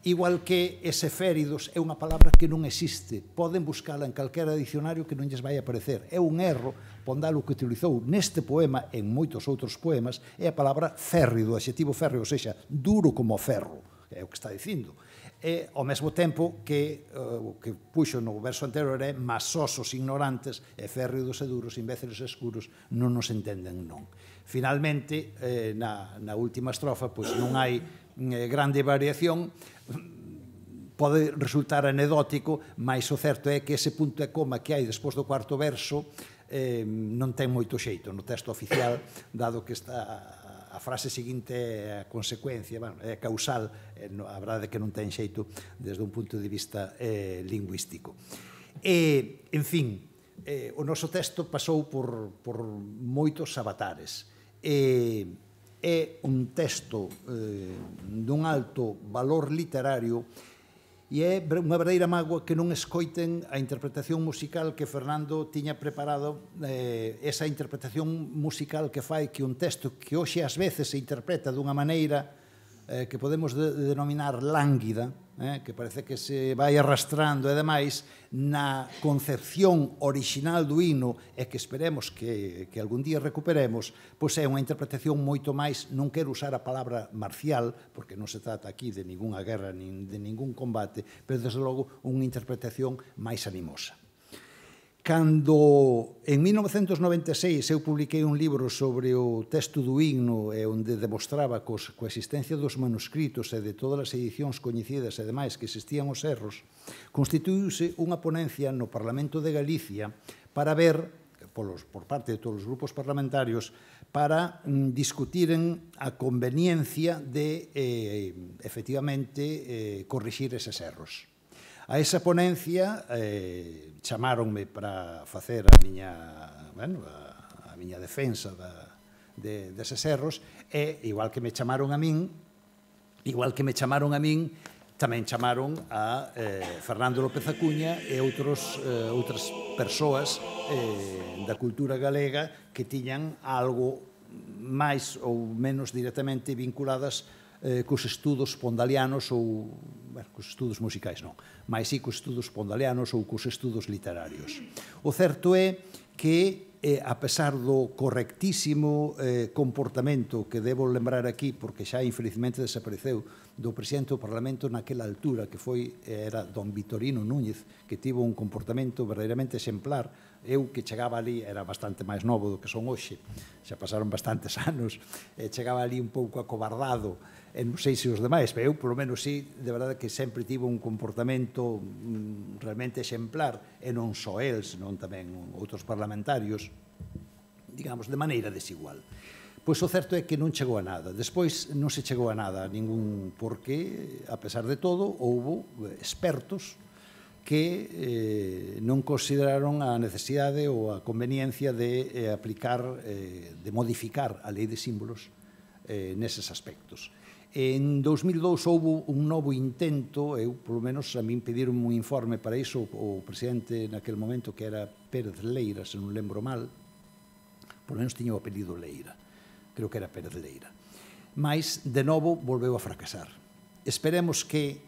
Igual que ese féridos é unha palabra que non existe, poden buscala en calquera dicionario que non lles vai aparecer. É un erro. Pondal o que utilizou neste poema, en moitos outros poemas, é a palabra férrido, o adxetivo férreo, ou seja, duro como ferro, é o que está dicindo. E, ao mesmo tempo, que o que puxo no verso anterior é masosos ignorantes e férridos e duros, imbéciles e escuros, non nos entenden non. Finalmente, na última estrofa, pois non hai grande variación, pode resultar anedótico, mas o certo é que ese punto e coma que hai despois do cuarto verso non ten moito xeito no texto oficial, dado que a frase seguinte é a consecuencia, é causal, a verdade é que non ten xeito desde un punto de vista lingüístico. En fin, o noso texto pasou por moitos avatares. É un texto dun alto valor literario e é unha verdadeira mágoa que non escoiten a interpretación musical que Fernando tiña preparado, esa interpretación musical que fai que un texto que hoxe ás veces se interpreta dunha maneira que podemos denominar lánguida, que parece que se vai arrastrando e demais, na concepción orixinal do himno e que esperemos que algún día recuperemos, pois é unha interpretación moito máis, non quero usar a palabra marcial, porque non se trata aquí de ninguna guerra, nin de ningún combate, pero desde logo unha interpretación máis animosa. Cando en 1996 eu publiquei un libro sobre o texto do himno e onde demostraba coa existencia dos manuscritos e de todas as edicións coñecidas e demais que existían os erros, constituíuse unha ponencia no Parlamento de Galicia para ver, por parte de todos os grupos parlamentarios, para discutiren a conveniencia de, efectivamente, corrixir eses erros. A esa ponencia chamáronme para facer a miña defensa deses erros e, igual que me chamaron a min, tamén chamaron a Fernando López Acuña e outras persoas da cultura galega que tiñan algo máis ou menos directamente vinculadas cos estudos pondalianos ou, cos estudos musicais non, mas sí cos estudos pondalianos ou cos estudos literarios. O certo é que, a pesar do correctísimo comportamento que debo lembrar aquí, porque xa infelizmente desapareceu, do presidente do Parlamento naquela altura, que era don Vitorino Núñez, que tivo un comportamento verdadeiramente exemplar. Eu que chegaba ali, era bastante máis novo do que son hoxe, xa pasaron bastantes anos, chegaba ali un pouco acobardado, non sei se os demais, pero eu, polo menos, sí, de verdade que sempre tivo un comportamento realmente exemplar, e non só el, senón tamén outros parlamentarios, digamos, de maneira desigual. Pois o certo é que non chegou a nada. Despois non se chegou a nada, ningún, porque, a pesar de todo, houbo expertos que non consideraron a necesidade ou a conveniencia de aplicar, de modificar a lei de símbolos neses aspectos. En 2002 houve un novo intento, eu, polo menos, a min pediron un informe para iso, o presidente naquele momento, que era Pérez Leira, se non lembro mal, polo menos tiña o apelido Leira, creo que era Pérez Leira. Mas, de novo, volveu a fracasar. Esperemos que,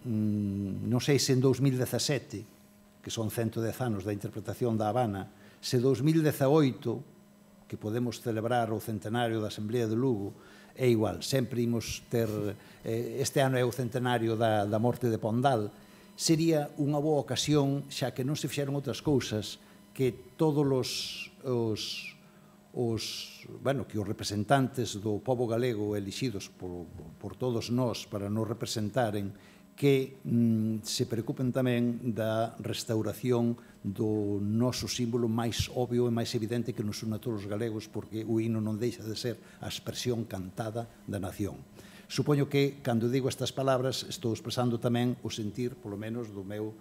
non sei se en 2017, que son 110 anos da interpretación da Habana, se 2018, que podemos celebrar o centenario da Asamblea de Lugo, é igual, sempre imos ter, este ano é o centenario da morte de Pondal, sería unha boa ocasión, xa que non se fixeron outras cousas, que todos que os representantes do pobo galego elixidos por todos nós para nos representaren, que se preocupen tamén da restauración do noso símbolo máis obvio e máis evidente que nos une a todos os galegos, porque o himno non deixa de ser a expresión cantada da nación. Supoño que, cando digo estas palabras, estou expresando tamén o sentir, polo menos, do meu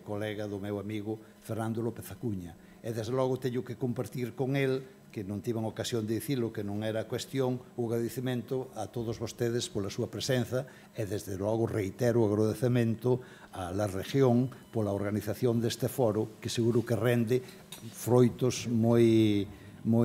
colega, do meu amigo Fernando López Acuña. E, desde logo, teño que compartir con el que non tiven ocasión de dicilo, que non era cuestión, o agradecemento a todos vostedes pola súa presenza e, desde logo, reitero o agradecemento a la región pola organización deste foro, que seguro que rende froitos moi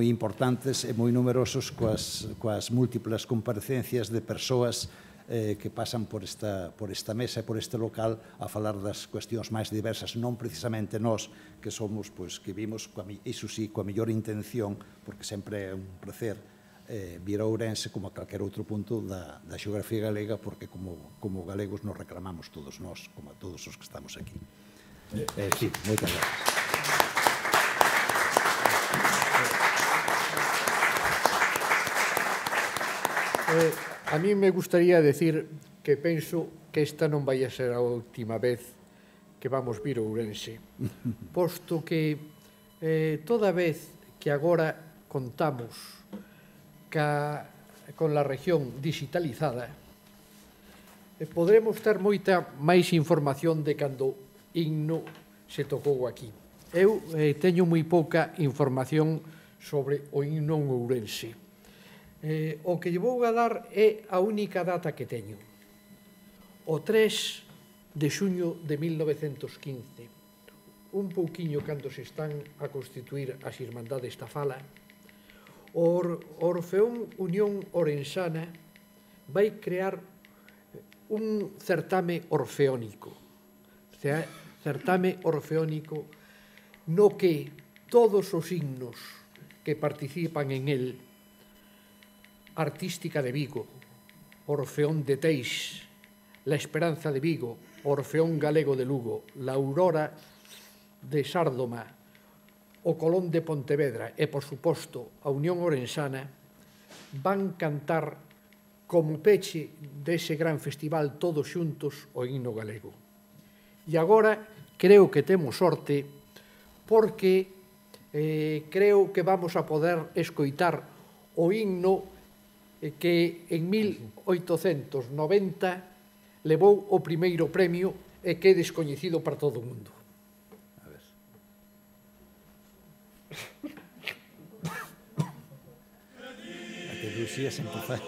importantes e moi numerosos coas múltiplas comparecencias de persoas que pasan por esta mesa e por este local a falar das cuestións máis diversas, non precisamente nós que somos, que vimos, iso sí, coa mellor intención, porque sempre é un placer vir a Ourense como a calquer outro punto da xeografía galega, porque como galegos nos reclamamos todos nós, como a todos os que estamos aquí. Sí, moitas gracias. A mí me gustaría decir que penso que esta non vai a ser a última vez que vamos vir a Ourense, posto que toda vez que agora contamos con la región digitalizada, podremos ter moita máis información de cando Inno se tocou aquí. Eu teño moi pouca información sobre o Inno en Ourense. O que lle vou a dar é a única data que teño. O 3 de xuño de 1915, un pouquiño cando se están a constituir as Irmandades da Fala, o Orfeón Unión Orensana vai crear un certame orfeónico. Certame orfeónico no que todos os himnos que participan en el, Artística de Vigo, Orfeón de Teix, La Esperanza de Vigo, Orfeón Galego de Lugo, La Aurora de Sárdoma, o Colón de Pontevedra e, por suposto, a Unión Orensana, van cantar como peche dese gran festival todos xuntos o himno galego. E agora creo que temos sorte porque creo que vamos a poder escoitar o himno que en 1890 levou o primeiro premio e que é descoñecido para todo o mundo. A ver. A que Lucía se empezar.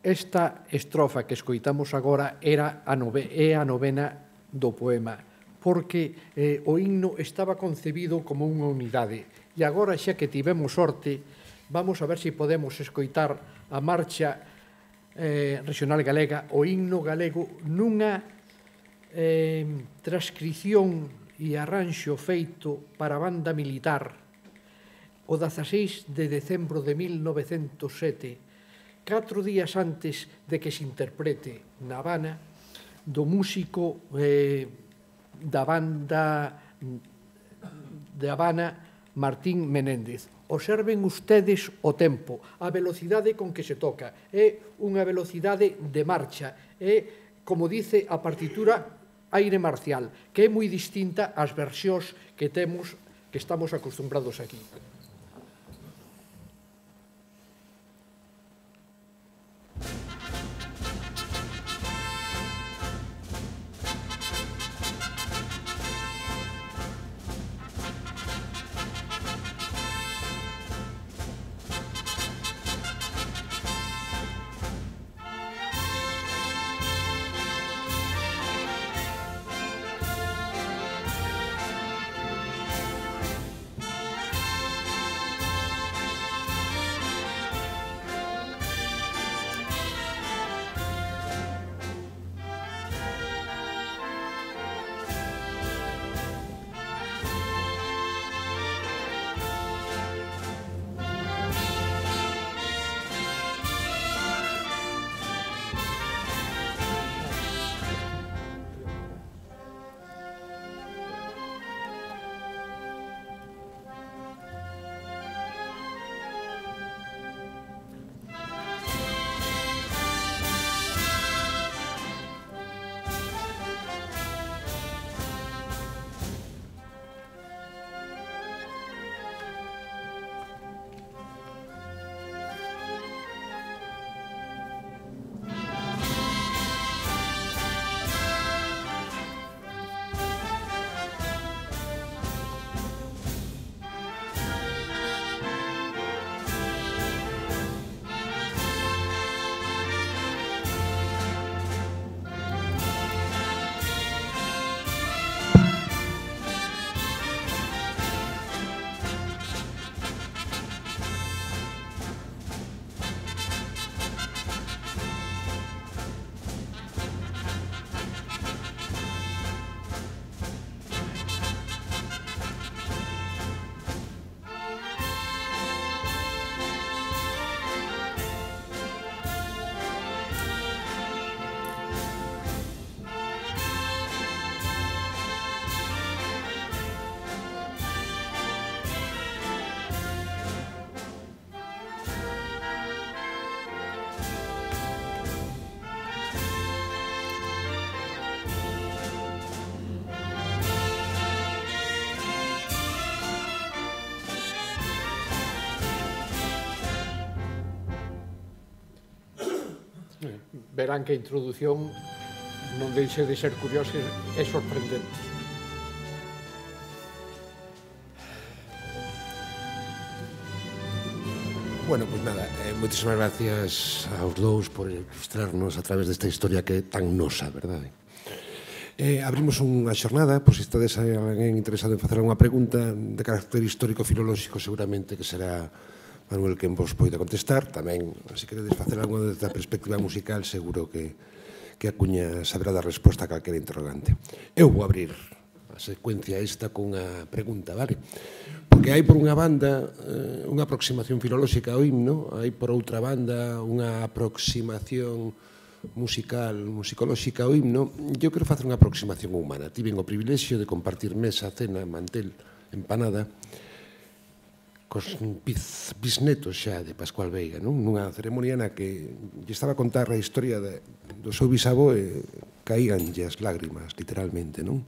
esta estrofa que escoitamos agora é a novena do poema, porque o himno estaba concebido como unha unidade. E agora, xa que tivemos sorte, vamos a ver se podemos escoitar a marcha regional galega, o himno galego, nunha transcripción e arranxo feito para a banda militar o 16 de decembro de 1907, 4 días antes de que se interprete na Habana, do músico da banda de Habana, Martín Menéndez. Observen ustedes o tempo, a velocidade con que se toca. É unha velocidade de marcha. É, como dice a partitura, aire marcial, que é moi distinta ás versións que temos, que estamos acostumbrados aquí. Verán que a introdución non deixe de ser curiosa e sorprendente. Bueno, pues nada, moitísimas gracias aos dous por ilustrarnos a través desta historia que é tan nosa, verdade? Abrimos unha xornada, por se estades alguén interesado en facer unha pregunta de carácter histórico-filolóxico, seguramente que será Manuel quen vos poida contestar. Tamén, se queredes facer algo desde a perspectiva musical, seguro que a Cuña saberá dar resposta a calquera interrogante. Eu vou abrir a secuencia esta cunha pregunta, vale? Porque hai por unha banda unha aproximación filolóxica ao himno, hai por outra banda unha aproximación musicolóxica ao himno. Eu quero facer unha aproximación humana. Tiven o privilexio de compartir mesa, cena, mantel, empanada cos bisnetos xa de Pascual Veiga, non? Nunha ceremonia na que lle estaba a contar a historia do seu bisavó e caíanlle as lágrimas, literalmente, non?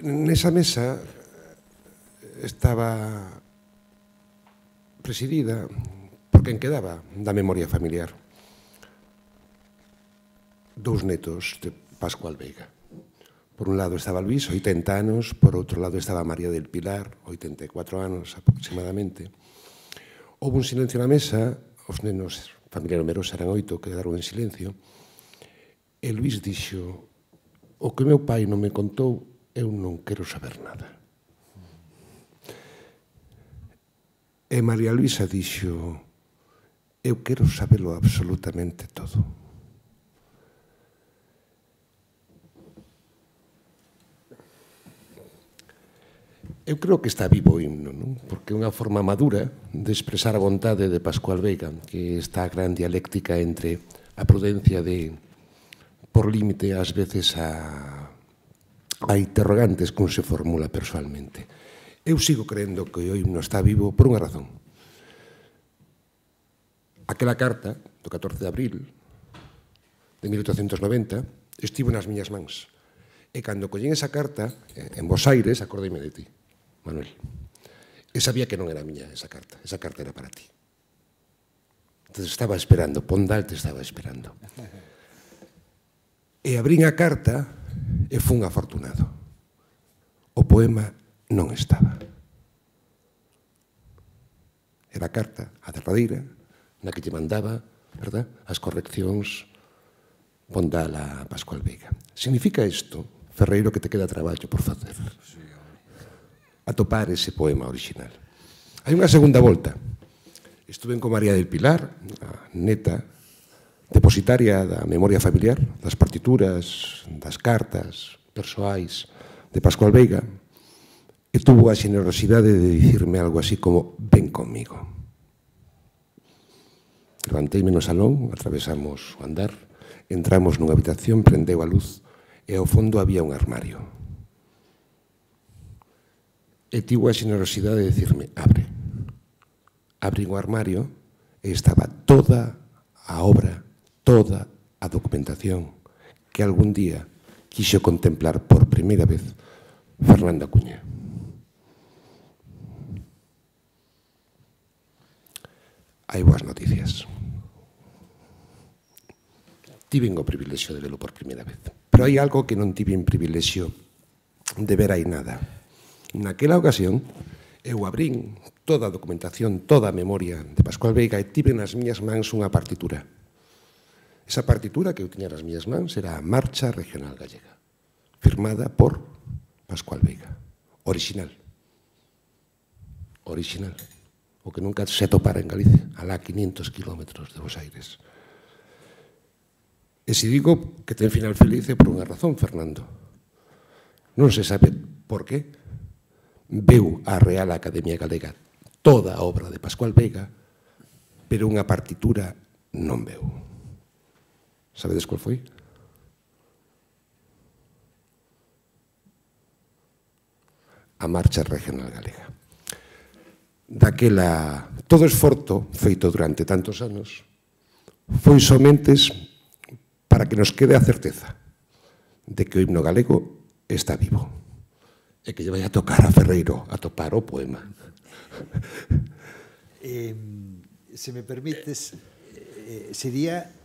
Nesa mesa estaba presidida por quen quedaba da memoria familiar. Dous netos de Pascual Veiga. Por un lado estaba Luís, 80 anos, por outro lado estaba María del Pilar, 84 anos aproximadamente. Houve un silencio na mesa, os nenos familia numerosa, eran 8, quedaron en silencio, e Luís dixo: o que meu pai non me contou, eu non quero saber nada. E María Luisa dixo: eu quero sabelo absolutamente todo. Eu creo que está vivo o himno, non? Porque é unha forma madura de expresar a vontade de Pascual Veiga, que está a gran dialéctica entre a prudencia de por límite ás veces a interrogantes que un se formula persoalmente. Eu sigo creendo que o himno está vivo por unha razón. Aquela carta do 14 de abril de 1890 estivo nas miñas mans. E cando collín esa carta, en Bos Aires, acordeime de ti, Manuel. E sabía que non era miña esa carta era para ti. Entón estaba esperando, Pondal te estaba esperando. E abrín a carta e fun afortunado. O poema non estaba. Era a carta, a derradeira, na que lle mandaba, verdad, as correccións Pondal a Pascual Veiga. Significa isto, Ferreiro, que te queda traballo por facer. Atopar ese poema original. Hai unha segunda volta. Estuve con María del Pilar, a neta, depositaria da memoria familiar, das partituras, das cartas persoais de Pascual Veiga, e tuvo a xenerosidade de dicirme algo así como: ven conmigo. Levanteime no salón, atravesamos o andar, entramos nunha habitación, prendeu a luz e ao fondo había un armario. E tivo a xenerosidade de dicirme: abre. Abrín o armario e estaba toda a obra, toda a documentación que algún día quixo contemplar por primeira vez Fernando Acuña. Hai boas noticias. Tiven o privilexio de velo por primeira vez. Pero hai algo que non tiven privilexio de ver aí nada. Naquela ocasión, eu abrín toda a documentación, toda a memoria de Pascual Veiga e tive nas miñas mans unha partitura. Esa partitura que eu tiña nas miñas mans era a Marcha Regional Gallega, firmada por Pascual Veiga. Original. Original. O que nunca se topara en Galicia, alá 500 kilómetros de Bos Aires. E se digo que ten final feliz é por unha razón, Fernando. Non se sabe por qué. Veu a Real Academia Galega toda a obra de Pascual Veiga, pero unha partitura non veu. Sabedes cual foi? A Marcha Regional Galega. Daquela, todo esforzo feito durante tantos anos foi somentes para que nos quede a certeza de que o himno galego está vivo e que lle vai a tocar a Ferreiro a topar o poema. Se me permites, sería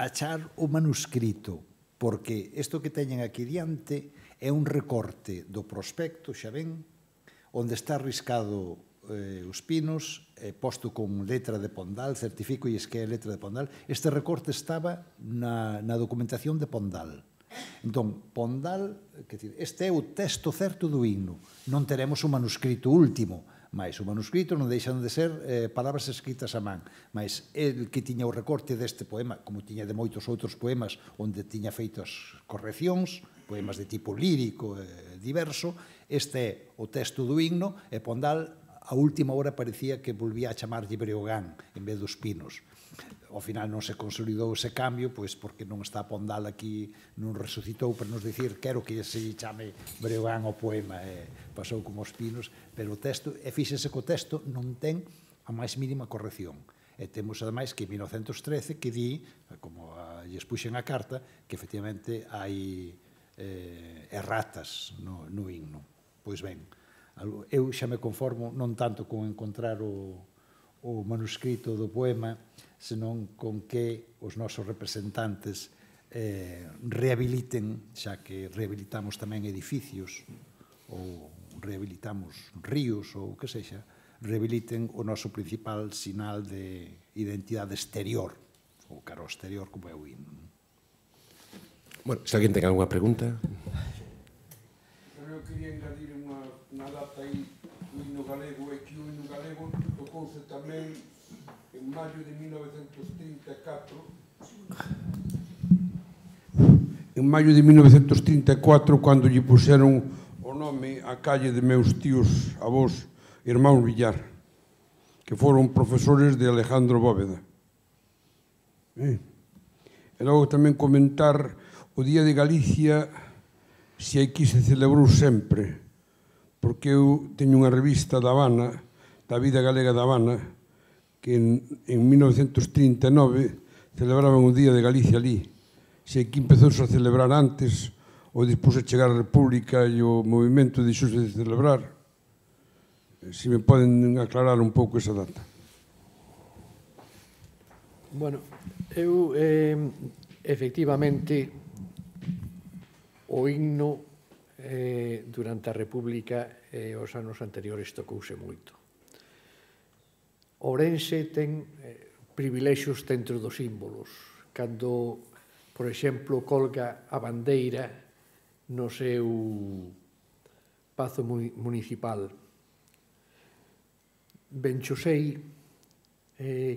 achar o manuscrito, porque isto que teñen aquí diante é un recorte do prospecto, xa ven, onde está arriscado os pinos, posto con letra de Pondal, certifico e que é letra de Pondal. Este recorte estaba na documentación de Pondal. Entón, Pondal, este é o texto certo do himno. Non teremos o manuscrito último, mas o manuscrito non deixan de ser palabras escritas a man. Mas el que tiña o recorte deste poema, como tiña de moitos outros poemas onde tiña feitas correccións, poemas de tipo lírico diverso, este é o texto do himno e Pondal a última hora parecía que volvía a chamarlle Breogán en vez dos Pinos. Ao final non se consolidou ese cambio, pois porque non está Pondal aquí, non resucitou para nos dicir quero que se chame Breogán o poema, pasou como os Pinos, pero o texto, e fíxense que o texto non ten a máis mínima corrección. E temos, ademais, que en 1913 que di, como lles puxen a carta, que efectivamente hai erratas no himno. Pois ben, eu xa me conformo non tanto con encontrar o manuscrito do poema, senón con que os nosos representantes rehabiliten, xa que rehabilitamos tamén edificios ou rehabilitamos ríos ou o que sexa, rehabiliten o noso principal sinal de identidade exterior o cara ao exterior como é o himno. Bueno, se alguén ten alguna pregunta. Eu quería engadir unha data aí, o himno galego, é que o himno galego tocouse tamén en maio de 1934. En maio de 1934, cando lle puxeron o nome á calle de meus tíos avós, irmáns Villar, que foron profesores de Alejandro Bóveda. E logo tamén comentar o Día de Galicia, se aquí se celebrou sempre, porque eu teño unha revista da Habana, da Vida Galega da Habana, que en 1939 celebraban o Día de Galicia ali. Se aquí empezouse a celebrar antes, ou despois de chegar a República e o movimento deixouse de celebrar, se me poden aclarar un pouco esa data. Bueno, eu, efectivamente, o himno durante a República e os anos anteriores tocouse moito. Ourense ten privilexios dentro dos símbolos. Cando, por exemplo, colga a bandeira no seu pazo municipal, Benchosei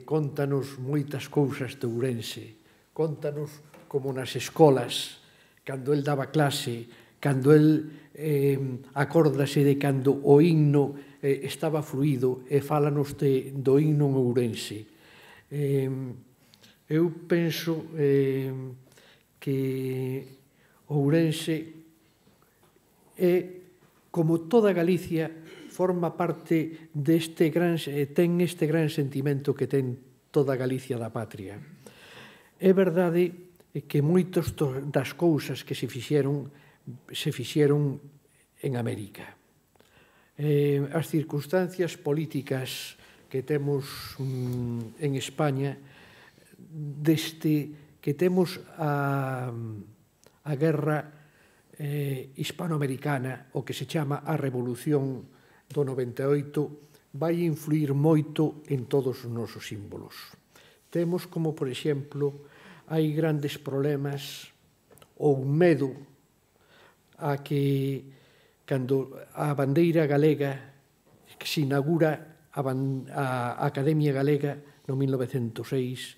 contanos moitas cousas de Ourense, contanos como nas escolas, cando el daba clase, cando el acórdase de cando o himno estaba fluído e fálanos do himno en Ourense. Eu penso que Ourense como toda Galicia, forma parte deste gran, ten este gran sentimento que ten toda Galicia da patria. É verdade que moitas das cousas que se fixeron en América. As circunstancias políticas que temos en España, desde que temos a guerra hispanoamericana, o que se chama a Revolución do 98, vai influir moito en todos os nosos símbolos. Temos como, por exemplo, hai grandes problemas ou medo a que cando a bandeira galega que se inaugura a Academia Galega no 1906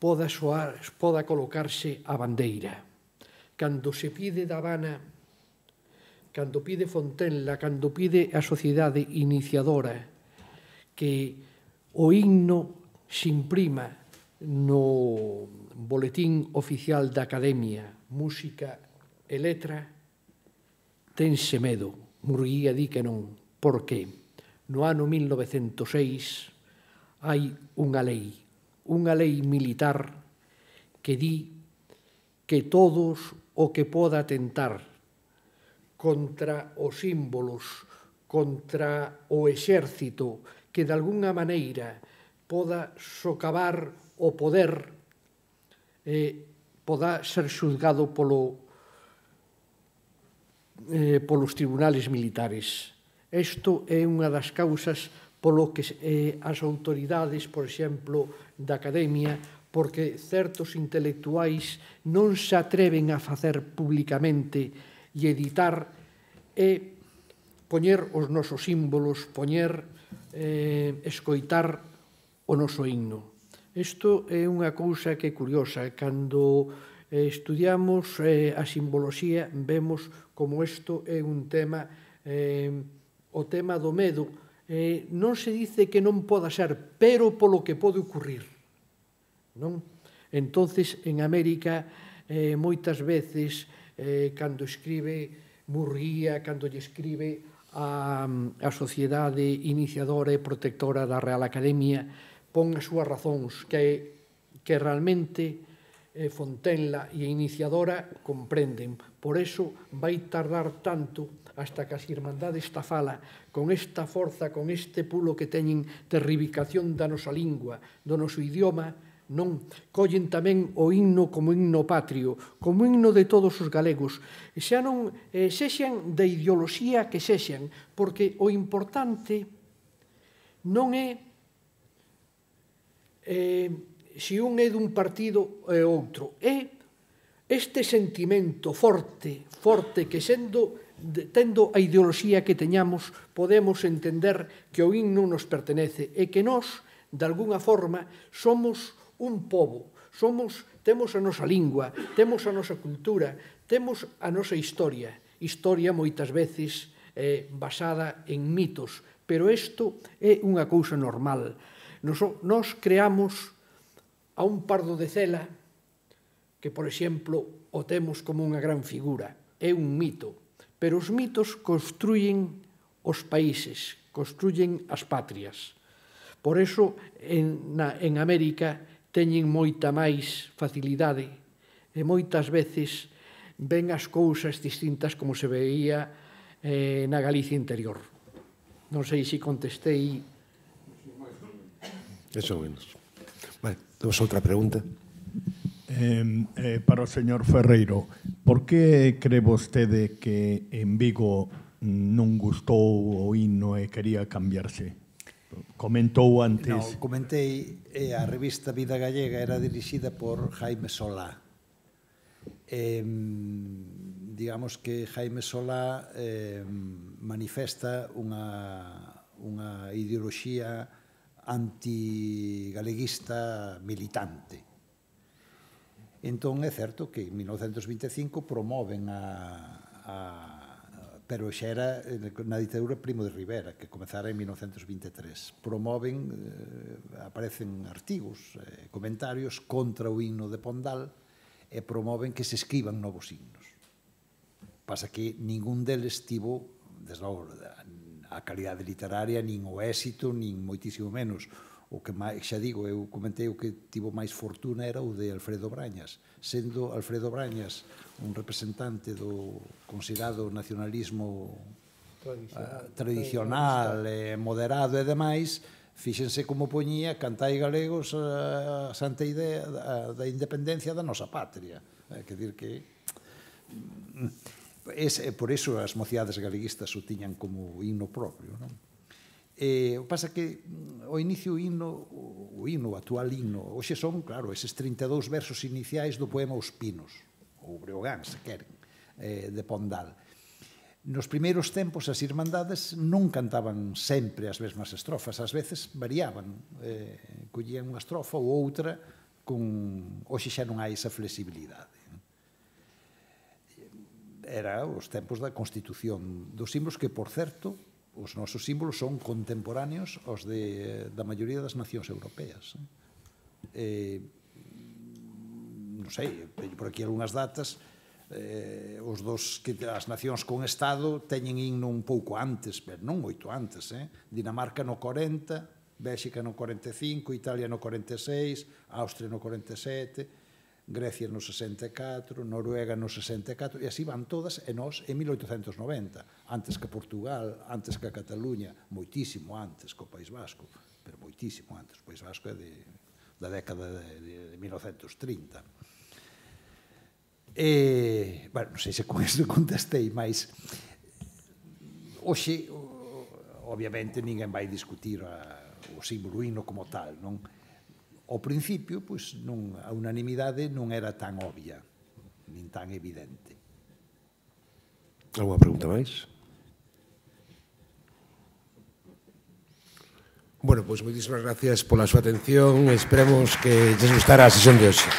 poda colocarse a bandeira. Cando se pide da Habana, cando pide Fontenla, cando pide a sociedade iniciadora que o himno se imprima no boletín oficial da Academia, música e letra, tense medo. Murguía di que non. Por que? No ano 1906 hai unha lei militar que di que todos o que poda atentar contra os símbolos, contra o exército, que de alguna maneira poda socavar o poder, poda ser xulgado polos tribunales militares. Isto é unha das causas polo que as autoridades, por exemplo, da Academia, porque certos intelectuais non se atreven a facer públicamente e editar e poñer os nosos símbolos, escoitar o noso himno. Isto é unha cousa que é curiosa. Cando estudiamos a simboloxía, vemos como isto é un tema, o tema do medo. Non se dice que non poda ser, pero polo que pode ocurrir. Entonces, en América, moitas veces, cando escribe Murguía, cando lle escribe a sociedade iniciadora e protectora da Real Academia, pon as súas razóns que realmente Fontenla e a iniciadora comprenden. Por eso vai tardar tanto hasta que as Irmandades da Fala, con esta forza, con este pulo que teñen de reivindicación da nosa lingua, do noso idioma, non collen tamén o himno como himno patrio, como himno de todos os galegos, xa non sexan da ideoloxía que sexan, porque o importante non é se un é dun partido e outro. É este sentimento forte que tendo a ideoloxía que teñamos, podemos entender que o himno nos pertenece e que nós, de alguna forma, somos un pobo, temos a nosa lingua, temos a nosa cultura, temos a nosa historia moitas veces basada en mitos, pero isto é unha cousa normal. Nos creamos a un Pardo de Cela, que, por exemplo, o temos como unha gran figura, é un mito, pero os mitos construyen os países, construyen as patrias. Por eso, en América, teñen moita máis facilidade e moitas veces ven as cousas distintas como se veía na Galicia interior. Non sei se contestei. Eso menos. Vale, temos outra pregunta. Para o señor Ferreiro, por que cree vostede que en Vigo non gustou o himno e quería cambiarse? Comentou antes... No, comentei, a revista Vida Gallega era dirixida por Jaime Solá. Digamos que Jaime Solá manifesta unha ideoloxía antigaleguista militante. Entón, é certo que en 1925 promoven pero xa era na ditadura Primo de Rivera, que comezara en 1923. Promoven, aparecen artigos, comentarios contra o himno de Pondal e promoven que se escriban novos himnos. Pasa que ningún deles tivo, desde logo, a calidade literaria, nin o éxito, nin moitísimo menos. O que máis, xa digo, eu comentei o que tivo máis fortuna era o de Alfredo Brañas, sendo Alfredo Brañas un representante do considerado nacionalismo tradicional, moderado e demais, fíxense como poñía Cantai galegos a santa idea da independencia da nosa patria. Quer dir que... Por iso as mocidades galeguistas o tiñan como himno propio, non? O que pasa que o inicio o actual himno, hoxe son, claro, eses 32 versos iniciais do poema Os Pinos, ou Breogán, se queren, de Pondal. Nos primeiros tempos as irmandades non cantaban sempre as mesmas estrofas, ás veces variaban, collían unha estrofa ou outra, hoxe xa non hai esa flexibilidade. Era os tempos da constitución dos símbolos que, por certo, os nosos símbolos son contemporáneos aos da maioría das nacións europeas. Non sei, por aquí algunhas datas, as nacións con Estado teñen himno un pouco antes, pero non moito antes. Dinamarca no 40, Bélxica no 45, Italia no 46, Austria no 47... Grecia no 64, Noruega no 64, e así van todas, e nós en 1890, antes que Portugal, antes que a Cataluña, moitísimo antes que o País Vasco, pero moitísimo antes, o País Vasco é da década de 1930. Bueno, non sei se con isto contestei, mas hoxe, obviamente, ninguén vai discutir o símbolo himno como tal, non? Ao principio, pois, a unanimidade non era tan obvia, nin tan evidente. Alguna pregunta máis? Bueno, pois moitísimas gracias pola súa atención. Esperemos que lles gustara a sesión de hoxe.